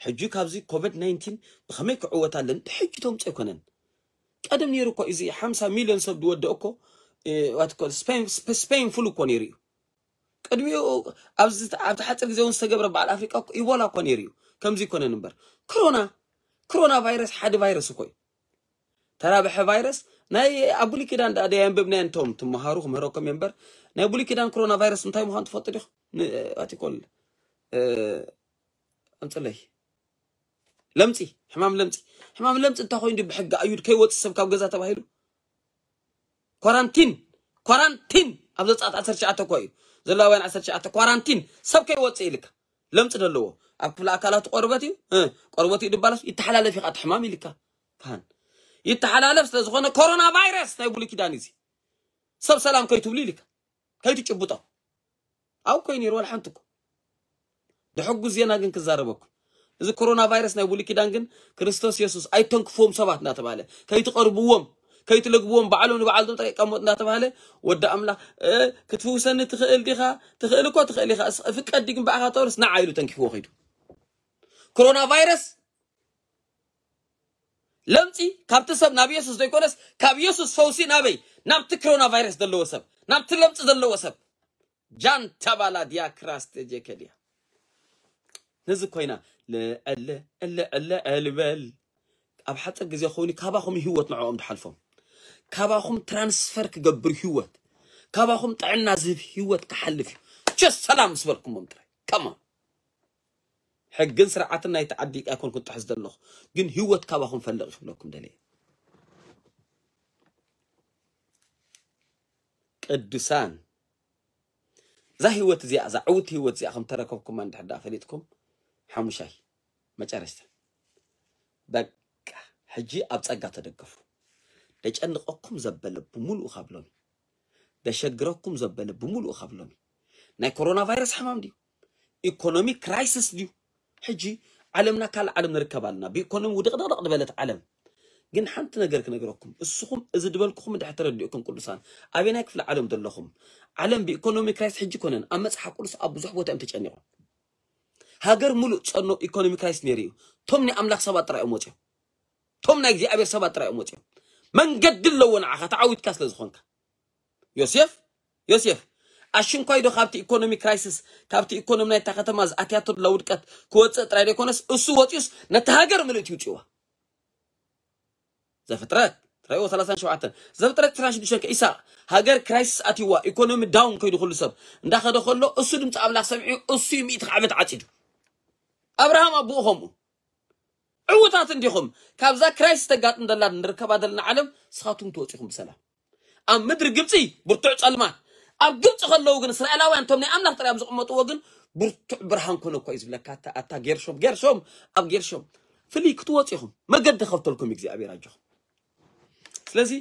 ሕጂ ካብዚ ኮቪድ ናይንቲን ብኸመይ ክዕወት ኣለኒ ብሕጂ ተምፅኦ ኣይኮነን ቀደም ነይሩ እኮ እዚ ሓምሳ ሚልዮን ሰብ ዝወደኦ እኮ ስፔን ፍሉ እኮ ነይሩ እዩ ቅድሚኡ ኣብዚ ኣብቲ ሓፂር ግዜ እውን ዝተገብረ በዓል ኣፍሪቃ እኮ ኢቦላ እኮ ነይሩ እዩ ከምዚ ይኮነን እምበር ክሮና ክሮና ቫይረስ ሓደ ቫይረስ እኮ እዩ ተራብሐ ቫይረስ ናይ ኣብ ብሉይ ኪዳን ደኣ ደይ ኣንብብናዮ እንቶም ትመሃሩ ክምህረኩም እየ እምበር ናይ ብሉይ ኪዳን ክሮና ቫይረስ እንታይ ምዃኑ ትፈልጡ ዲኹም ኣቲኮል ኣምፅለይ ለምፂ ሕማም ለምፂ ሕማም ለምፂ እንታይ ኮይኑ ብሕጊ ኣዩድ ከይወፅእ ሰብ ካብ ገዛ ተባሂሉ ኳራንቲን ኳራንቲን ኣብ ዘፃት ዓሰርተ ትሽዓተ እኮ እዩ ዘለዋውያን ዓሰርተ ትሽዓተ ኳራንቲን ሰብ ከይወፅእ ኢልካ ለምፂ ዘለዎ ኣብ ክፍለ ኣካላት ቆርበት እዩ ቆርበት እዩ ድባለስ ይተሓላለፍ ኢኻ ሕማም ኢልካ ካህን ይተሓላለፍ ስለዝኾነ ኮሮና ቫይረስ ናይ ብሉይ ኪዳን እዚ ሰብ ሰላም ከይትብሉ ኢልካ ከይትጭብጦ ኣብ ኮይኑ ይሩ ሓንቲ እኮ ድሕጉ ዜና ግን ክዛረበኩም እዚ ኮሮና ቫይረስ ናይ ብሉይ ኪዳን ግን ክርስቶስ የሱስ ኣይተንክፍዎም ሰባት እናተባለ ከይትቐርብዎም ከይትለግብዎም ባዕሎም ንባዕልቶም ጥራይ ይቀመጡ እናተባሃለ ወዲ ኣምላኽ ክትፍውሰኒ ትኽእል ዲኻ ትኽእል እኮ ትኽእል ኢኻ ፍቀድ ግን ብኣኻ ተወርስ ንዓ ኢሉ ተንኪፍዎ ከይዱ ኮሮና ቫይረስ ለምፂ ካብቲ ሰብ ናብ የሱስ ዘይኮነስ ካብ የሱስ ፈውሲ ናበይ ናብቲ ኮሮና ቫይረስ ዘለዎ ሰብ ናብቲ ለምፂ ዘለዎ ሰብ ጃንታ ባላ ዲያ ክራስ ተጀከልያ ነዚ ኮይና ልዕለ ዕለ ዕለ ዕልበል ኣብ ሓፂር ግዜ ኮይኑ ካባኹም ህይወት ንዕኦም ትሓልፎም ካባኹም ትራንስፈር ክገብር ህይወት ካባኹም ጥዕና ዝህብ ህይወት ክሓልፍ እዩ ቸስ ሰላም ምስ በልኩሞም ጥራይ ከማ ሕግን ስርዓትን ናይቲ ዓዲ ኣይኮንኩን ጥሕስ ዘለኹ፣ ግን ህይወት ካባኹም ፈልቕ ክብለኩም ደልየ። ቅዱሳን፣ እዛ ህይወት እዚኣ፣ እዛ ዕውት ህይወት እዚኣ ከም ተረከብኩማ እንድሕር ደኣ ፈሊጥኩም፣ ሓሙሻይ መጨረሽታ፣ በቃ ሕጂ ኣብ ጸጋ ተደገፉ። ደጨንቐኩም ዘበለ ብምሉኡ ካብ ሎሚ፣ ደሸግረኩም ዘበለ ብምሉኡ ካብ ሎሚ። ናይ ኮሮና ቫይረስ ሕማም ድዩ? ኢኮኖሚ ክራይሲስ ድዩ? ሕጂ ዓለምና ካልእ ዓለም ንርከብ ኣለና። ብኢኮኖሚ ውድቕድቕድቕ ዝበለት ዓለም። ግን ሓንቲ ነገር ክነግረኩም፣ እስኹም እዚ ዝበልኩኹም እንድሕር ተረዲእኩም ቅዱሳን፣ ኣበየናይ ክፍለ ዓለም ዘለኹም፣ ዓለም ብኢኮኖሚ ክራይሲስ ሕጂ ኮነን ኣብ መጽሓፍ ቅዱስ ኣብ ብዙሕ ቦታ እዮም ተጨኒቖም። ሃገር ሙሉእ ጸኖ ኢኮኖሚ ክራይሲስ ነይሩ እዩ። ቶም ናይ ኣምላኽ ሰባት ጥራይ እዮም ወጺኦም። ቶም ናይ እግዚኣብሔር ሰባት ጥራይ እዮም ወጺኦም። መንገዲ ኣለዎ ንዓኻ ተዓዊትካ ስለ ዝኾንካ። ዮሴፍ፣ ዮሴፍ፣ ኣሽንኳይ ዶ ካብቲ ኢኮኖሚ ክራይሲስ፣ ካብቲ ኢኮኖሚ ናይታ ከተማ ዝኣትያቶ ዘላ ውድቀት ክወጽእ ጥራይ ዘይኮነስ፣ እሱ ወጺኡስ ነቲ ሃገር ምልእቲ ይውጽእዋ። ዘፍጥረት፣ ትራይዎ ሰላሳን ሸውዓተን። ዘፍጥረት ዕስራን ሽዱሽተን ከ ኢሳቅ፣ ሃገር ክራይሲስ ኣትይዋ፣ ኢኮኖሚ ዳውን ከይዱ ኩሉ ሰብ እንዳኸደ ከሎ፣ እሱ ድምፂ ኣምላኽ ሰሚዑ፣ እሱ እዩ ሚእቲ ዓመት ዓፂዱ። ኣብርሃም ኣቦኡ ከምኡ። ዕውታት እንዲኹም፣ ካብዛ ክራይሲስ ተጋጥም ደላ ንርከባ ዘለና ዓለም፣ ንስኻትኩም ትወፂኹም ብሰላም። ኣብ ምድሪ ግብፂ ብርቱዕ ጸልማት፣ ኣብ ግብፂ ከለዉ ግን እስራኤላውያን እቶም ናይ ኣምላኽ ጥራይ ኣብ ዝቕመጥዎ ግን ብርቱዕ ብርሃን ኮነ እኮ እዩ ዝብለካ። ኣታ፣ ኣታ ጌርሾም፣ ጌርሾም፣ ኣብ ጌርሾም ፍልይ ክትወፁ ኢኹም። መገዲ ከፍተልኩም እግዚኣብሔር ኣጆኹም። ስለዚ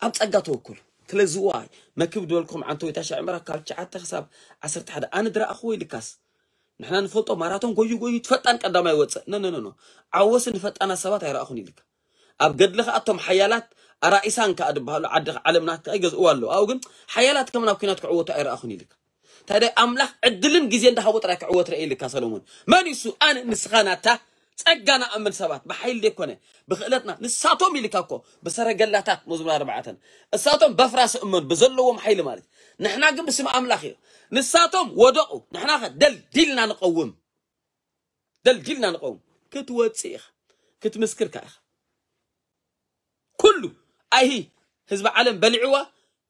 ኣብ ጸጋ ተወከሉ። ስለዚ ዋይ መክብ ዝበልኩም ዓንተ ወይ ታሻ ዕምራ ካብ ትሽዓተ ክሳብ ዓሰርተ ሓደ ኣነ ድረኣኽዎ ኢልካስ ንሕና ንፈልጦ ማራቶን ጎዩ ጎዩ ፈጣን ቀዳማይ ወፅእ። ኖ፣ ኖ፣ ኖ፣ ኖ። ዓወሲ ንፈጣናት ሰባት ኣይረኣኹን ኢልካ። ኣብ ገድሊ ኸኣ እቶም ሓያላት ኣራኢሳን ከኣ ዝበሃሉ ዓዲ ዓለምና ከኣ ይገዝእዋ ኣለዉ። ኣብኡ ግን ሓያላት ከም ናብ ኲናት ክዕወቱ ኣይረኣኹን ኢልካ። ታዲያ ኣምላኽ ዕድልን ግዜ እንዳሃቦ ጥራይ ክዕወት ርአ ኢልካ ሰሎሞን። መን እዩ እሱ? ኣነ ንስኻ ናታ ጸጋ ንኣምን ሰባት ብሓይሊ ዘይኮነ ብኽእለትና ንሳቶም ኢልካ እኮ ብሰረገላታት መዝሙር ኣርባዕተን እሳቶም በፍራስ እመኑ ብዘለዎም ሓይሊ ማለት እዩ። ንሕና ግን ብስም ኣምላኽ እዩ። ንሳቶም ወደቑ፣ ንሕና ኸ ደልዲልና ንቐውም። ደልዲልና ንቐውም። ክትወጽእ ኢኻ፣ ክትምስክር ከኣ ኢኻ። ኩሉ ኣይሂ ህዝቢ ዓለም በሊዕዋ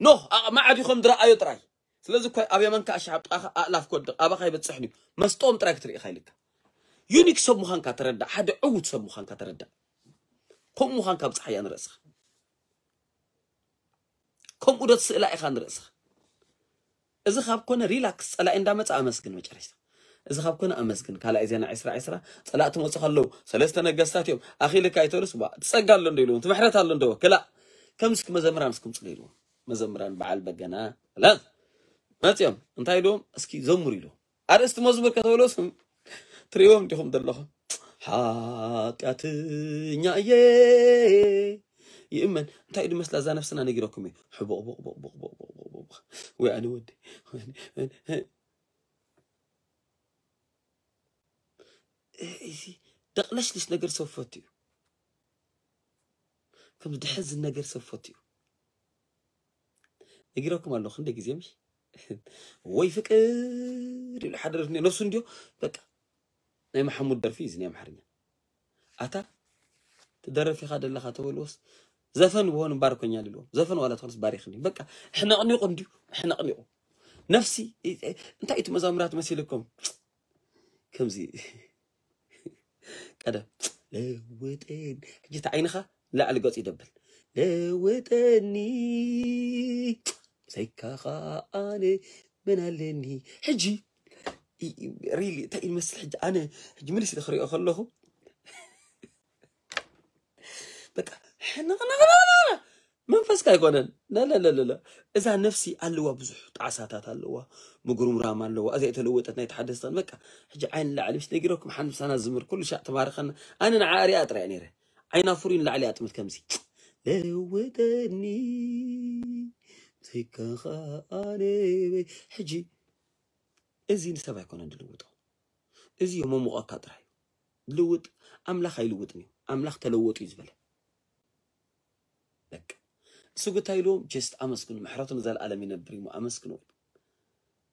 ኖህ ኣቕማዕዲ ከም ዝረኣዮ ጥራይ። ስለዚ እኮ ኣብ የመንካ ኣሽሓብ ጥቓኻ ኣእላፍ ክወድቕ ኣባኻ ይበጽሕን እዩ። መስጦም ጥራይ ክትርኢ ኢኻ ኢልካ። ዩኒክ ሰብ ምዃንካ ተረዳእ፣ ሓደ ዕዉት ሰብ ምዃንካ ተረዳእ። ከምኡ ምዃንካ ኣብጽሓያ ንርእስኻ። ከምኡ ዶ ትስእላ ኢኻ ንርእስኻ? እዚ ካብ ኮነ ሪላክስ፣ ጸላኢ እንዳመጸ ኣመስግን መጨረሽታ። እዚ ካብ ኮነ ኣመስግን። ካልኣይ ዜና ዕስራ ዕስራ፣ ጸላእቲ መጹ ከለዉ ሰለስተ ነገስታት እዮም። ኣኺልካ ኣይተሉስ ባ፣ ትጸጋ ኣሎ እንዶ ኢልዎም፣ ትምሕረት ኣሎ እንዶ፣ ክላእ። ከም እስኪ መዘምራን እስኩም ጽሉ ኢልዎም። መዘምራን በዓል በገና፣ ላ፣ መጽዮም፣ እንታይ ኢልዎም? እስኪ ዘምሩ ኢልዎም። ኣርእስቲ መዝሙር ከተበለሱ ትሪእዎም ዲኹም ዘለኹም? ሓጢኣተኛ እየ ይእመን። እንታይ እዩ ድመስላ እዛ ነፍስና ነጊረኩም እየ። ሕቦቕ ቦቕ ቦቕ ቦቕ ቦቕ ቦቕ ቦቕ ቦቕ። ወይ ኣነ ወዲ። እዚ ደቕለሽልሽ ነገር ሰብ ፈቱ እዩ። ከም ዝድሕዝን ነገር ሰብ ፈቱ እዩ። ነጊረኩም ኣለኹ ክንደይ ግዜ ምሽ? ወይ ፍቅር ኢሉ ሓደ ደርፊ ነፍሱ እንድዮ በቃ ናይ መሓሙድ ደርፊ እዩ እዚ ናይ ኣምሓርኛ። ኣታ ትደርፍ ኢኻ ደለኻ ተበልዎስ ዘፈን ብሆን ባርኮኛል ኢልዎም። ዘፈን ዋላ ትኾንስ ባሪኽኒ። በቃ ሕነቕኒቑ እንድዩ ሕነቕኒቑ። ነፍሲ እንታይ እቲ መዛሙራት መሲልኩም? ከምዚ ቀደም ለውጠን ሕጂ እቲ ዓይንኻ ላዕሊ ገጹ ይደብል። ለውጠኒ ብዘይካኻ ኣነ መን ኣለኒ? ሕጂ ሪሊ እንታይ እዩ መስል? ሕጂ ኣነ ሕጂ ምልስ ኢለ ክሪኦ ከለኹ በቃ ሕንቕንቕንቕንቕ መንፈስካ ኣይኮነን። ለለለለለ እዛ ነፍሲ ኣለዋ፣ ብዙሕ ጣዕሳታት ኣለዋ፣ ምጉርምራም ኣለዋ። እዚኣ የተለወጠት ናይ ተሓደስተን በቃ ሕጂ ዓይን ላዕሊ ምስ ነጊረኩም ሓንቲ ምሳና ዝምር ኩሉ ሻዕ ተባረኸና። ኣነ ንዓ ሪኣ ጥራይ ነይረ ዓይና ፍሩይ ንላዕሊ ኣጥምት ከምዚ ለወጠኒ ዘይካኻ ኣነ በይ። ሕጂ እዚ ንሰብ ኣይኮነን ዝልውጦ፣ እዚ የመሙቐካ ጥራይ እዩ። ልውጥ ኣምላኽ ኣይልውጥን እዩ። ኣምላኽ ተለወጡ እዩ ዝበለ። በቃ እሱ ግታ ኢልዎም ጀስት ኣመስግኑ። ምሕረቱ ንዘለኣለም ይነብር እዩ። ኣመስግኑ።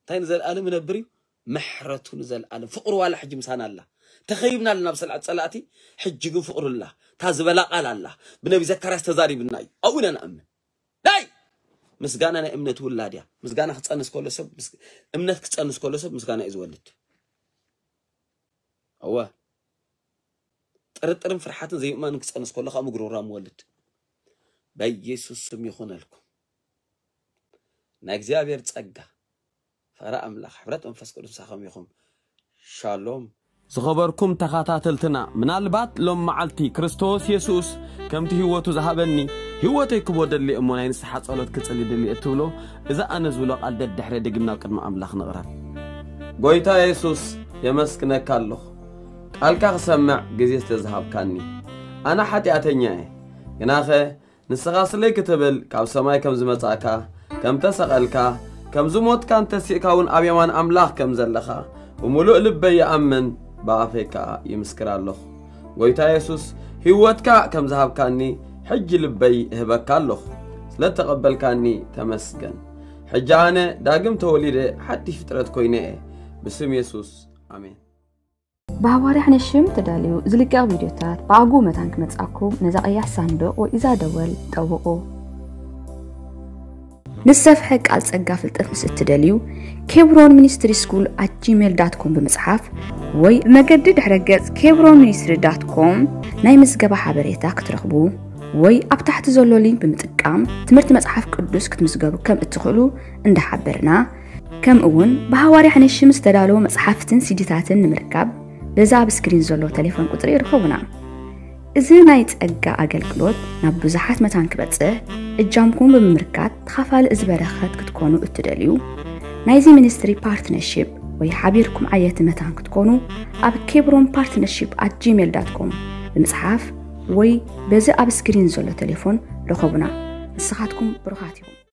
እንታይ ንዘለኣለም ይነብር እዩ? ምሕረቱ ንዘለኣለም። ፍቕሩ ዋላ ሕጂ ምሳና ኣላ። ተኸይብና ኣለና ብሰልዓት ጸላእቲ፣ ሕጂ ግን ፍቕሩ ኣላ። እታ ዝበላ ቃል ኣላ። ብነቢ ዘካርያስ ተዛሪብና እዩ። ኣብኡ ኢና ንኣምን። ናይ ምስጋና ናይ እምነት ውላድ እያ። ምስጋና ክጸንስ ከሎ ሰብ ምስ- እምነት ክጸንስ ከሎ ሰብ ምስጋና እዩ ዝወልድ። እወ ጥርጥርን ፍርሓትን ዘይምእማንን ክጸንስ ከሎ ከኣ ምጉርምራም ወልድ። በኢየሱስ ስም ይኹነልኩም። ናይ እግዚኣብሔር ጸጋ፣ ፍቕሪ ኣምላኽ፣ ሕብረት መንፈስ ቅዱስ ምሳኹም ይኹን። ሻሎም። ዝኸበርኩም ተኸታተልትና፣ ምናልባት ሎም መዓልቲ ክርስቶስ የሱስ ከምቲ ህይወቱ ዝሃበኒ ህይወተይ ክቦ ደሊ እሞ ናይ ንስሓ ጸሎት ክጽሊ ደሊ እትብሎ፣ እዚ ኣነ ዝብሎ ቃል ደድሕረ ደጊም ናብ ቅድሚ ኣምላኽ ንቕረብ። ጎይታ የሱስ፣ የመስግነካ ኣለኹ፣ ቃልካ ክሰምዕ ግዜ ስለ ዝሃብካኒ። ኣነ ሓጢኣተኛ እየ፣ ግናኸ ንስኻ ስለይ ክትብል ካብ ሰማይ ከም ዝመጻእካ፣ ከም ተሰቐልካ፣ ከም ዝሞትካን ተሲእካ እውን ኣብ የማን ኣምላኽ ከም ዘለኻ ብምሉእ ልበይ ይኣምን፣ ብኣፈይ ከኣ ይምስክር ኣለኹ። ጎይታ የሱስ፣ ህይወትካ ከም ዝሃብካኒ ሕጂ ልበይ እህበካ ኣለኹ። ስለ እተቐበልካኒ ተመስገን። ሕጂ ኣነ ዳግም ተወሊደ ሓድሽ ፍጥረት ኮይነ እየ። ብስም የሱስ፣ ኣሜን። ብሃዋርያ ሓነሽም ተዳልዩ ዝልቀቕ ቪድዮታት ብኣግኡ መታን ክመጻኩም ነዛ ቀያሕ ሳንዱቕ ወይ እዛ ደወል ጠውቑ። ንሰፍሐ ቃል ጸጋ ፍልጠት ምስ እትደልዩ፣ ኬብሮን ሚኒስትሪ ስኩል ኣት ጂሜል ዳት ኮም ብምጽሓፍ ወይ ብመገዲ ድሕረ ገጽ ኬብሮን ሚኒስትሪ ዳት ኮም ናይ ምዝገባ ሓበሬታ ክትረኽቡ ወይ ኣብ ታሕቲ ዘሎ ሊንክ ብምጥቃም ትምህርቲ መጽሓፍ ቅዱስ ክትምዝገቡ ከም እትኽእሉ እንዳሓበርና፣ ከምኡ እውን ብሃዋርያ ሓነሽም ዝተዳለዉ መጽሓፍትን ሲዲታትን ንምርካብ በዛ ኣብ ስክሪን ዘሎ ቴሌፎን ቁጽሪ ይርኸቡና። እዚ ናይ ጸጋ ኣገልግሎት ናብ ብዙሓት መታን ክበጽሕ እጃምኩም ብምምርካት ተኻፋሊ እዚ በረኸት ክትኮኑ እትደልዩ፣ ናይዚ ሚኒስትሪ ፓርትነርሺፕ ወይ ሓቢርኩም ዓየቲ መታን ክትኮኑ ኣብ ኬብሮን ፓርትነርሺፕ ኣት ጂሜል ዳት ኮም ብምጽሓፍ ወይ በዚ ኣብ ስክሪን ዘሎ ቴሌፎን ርኸቡና። ንስኻትኩም ብሩኻት ኢኹም።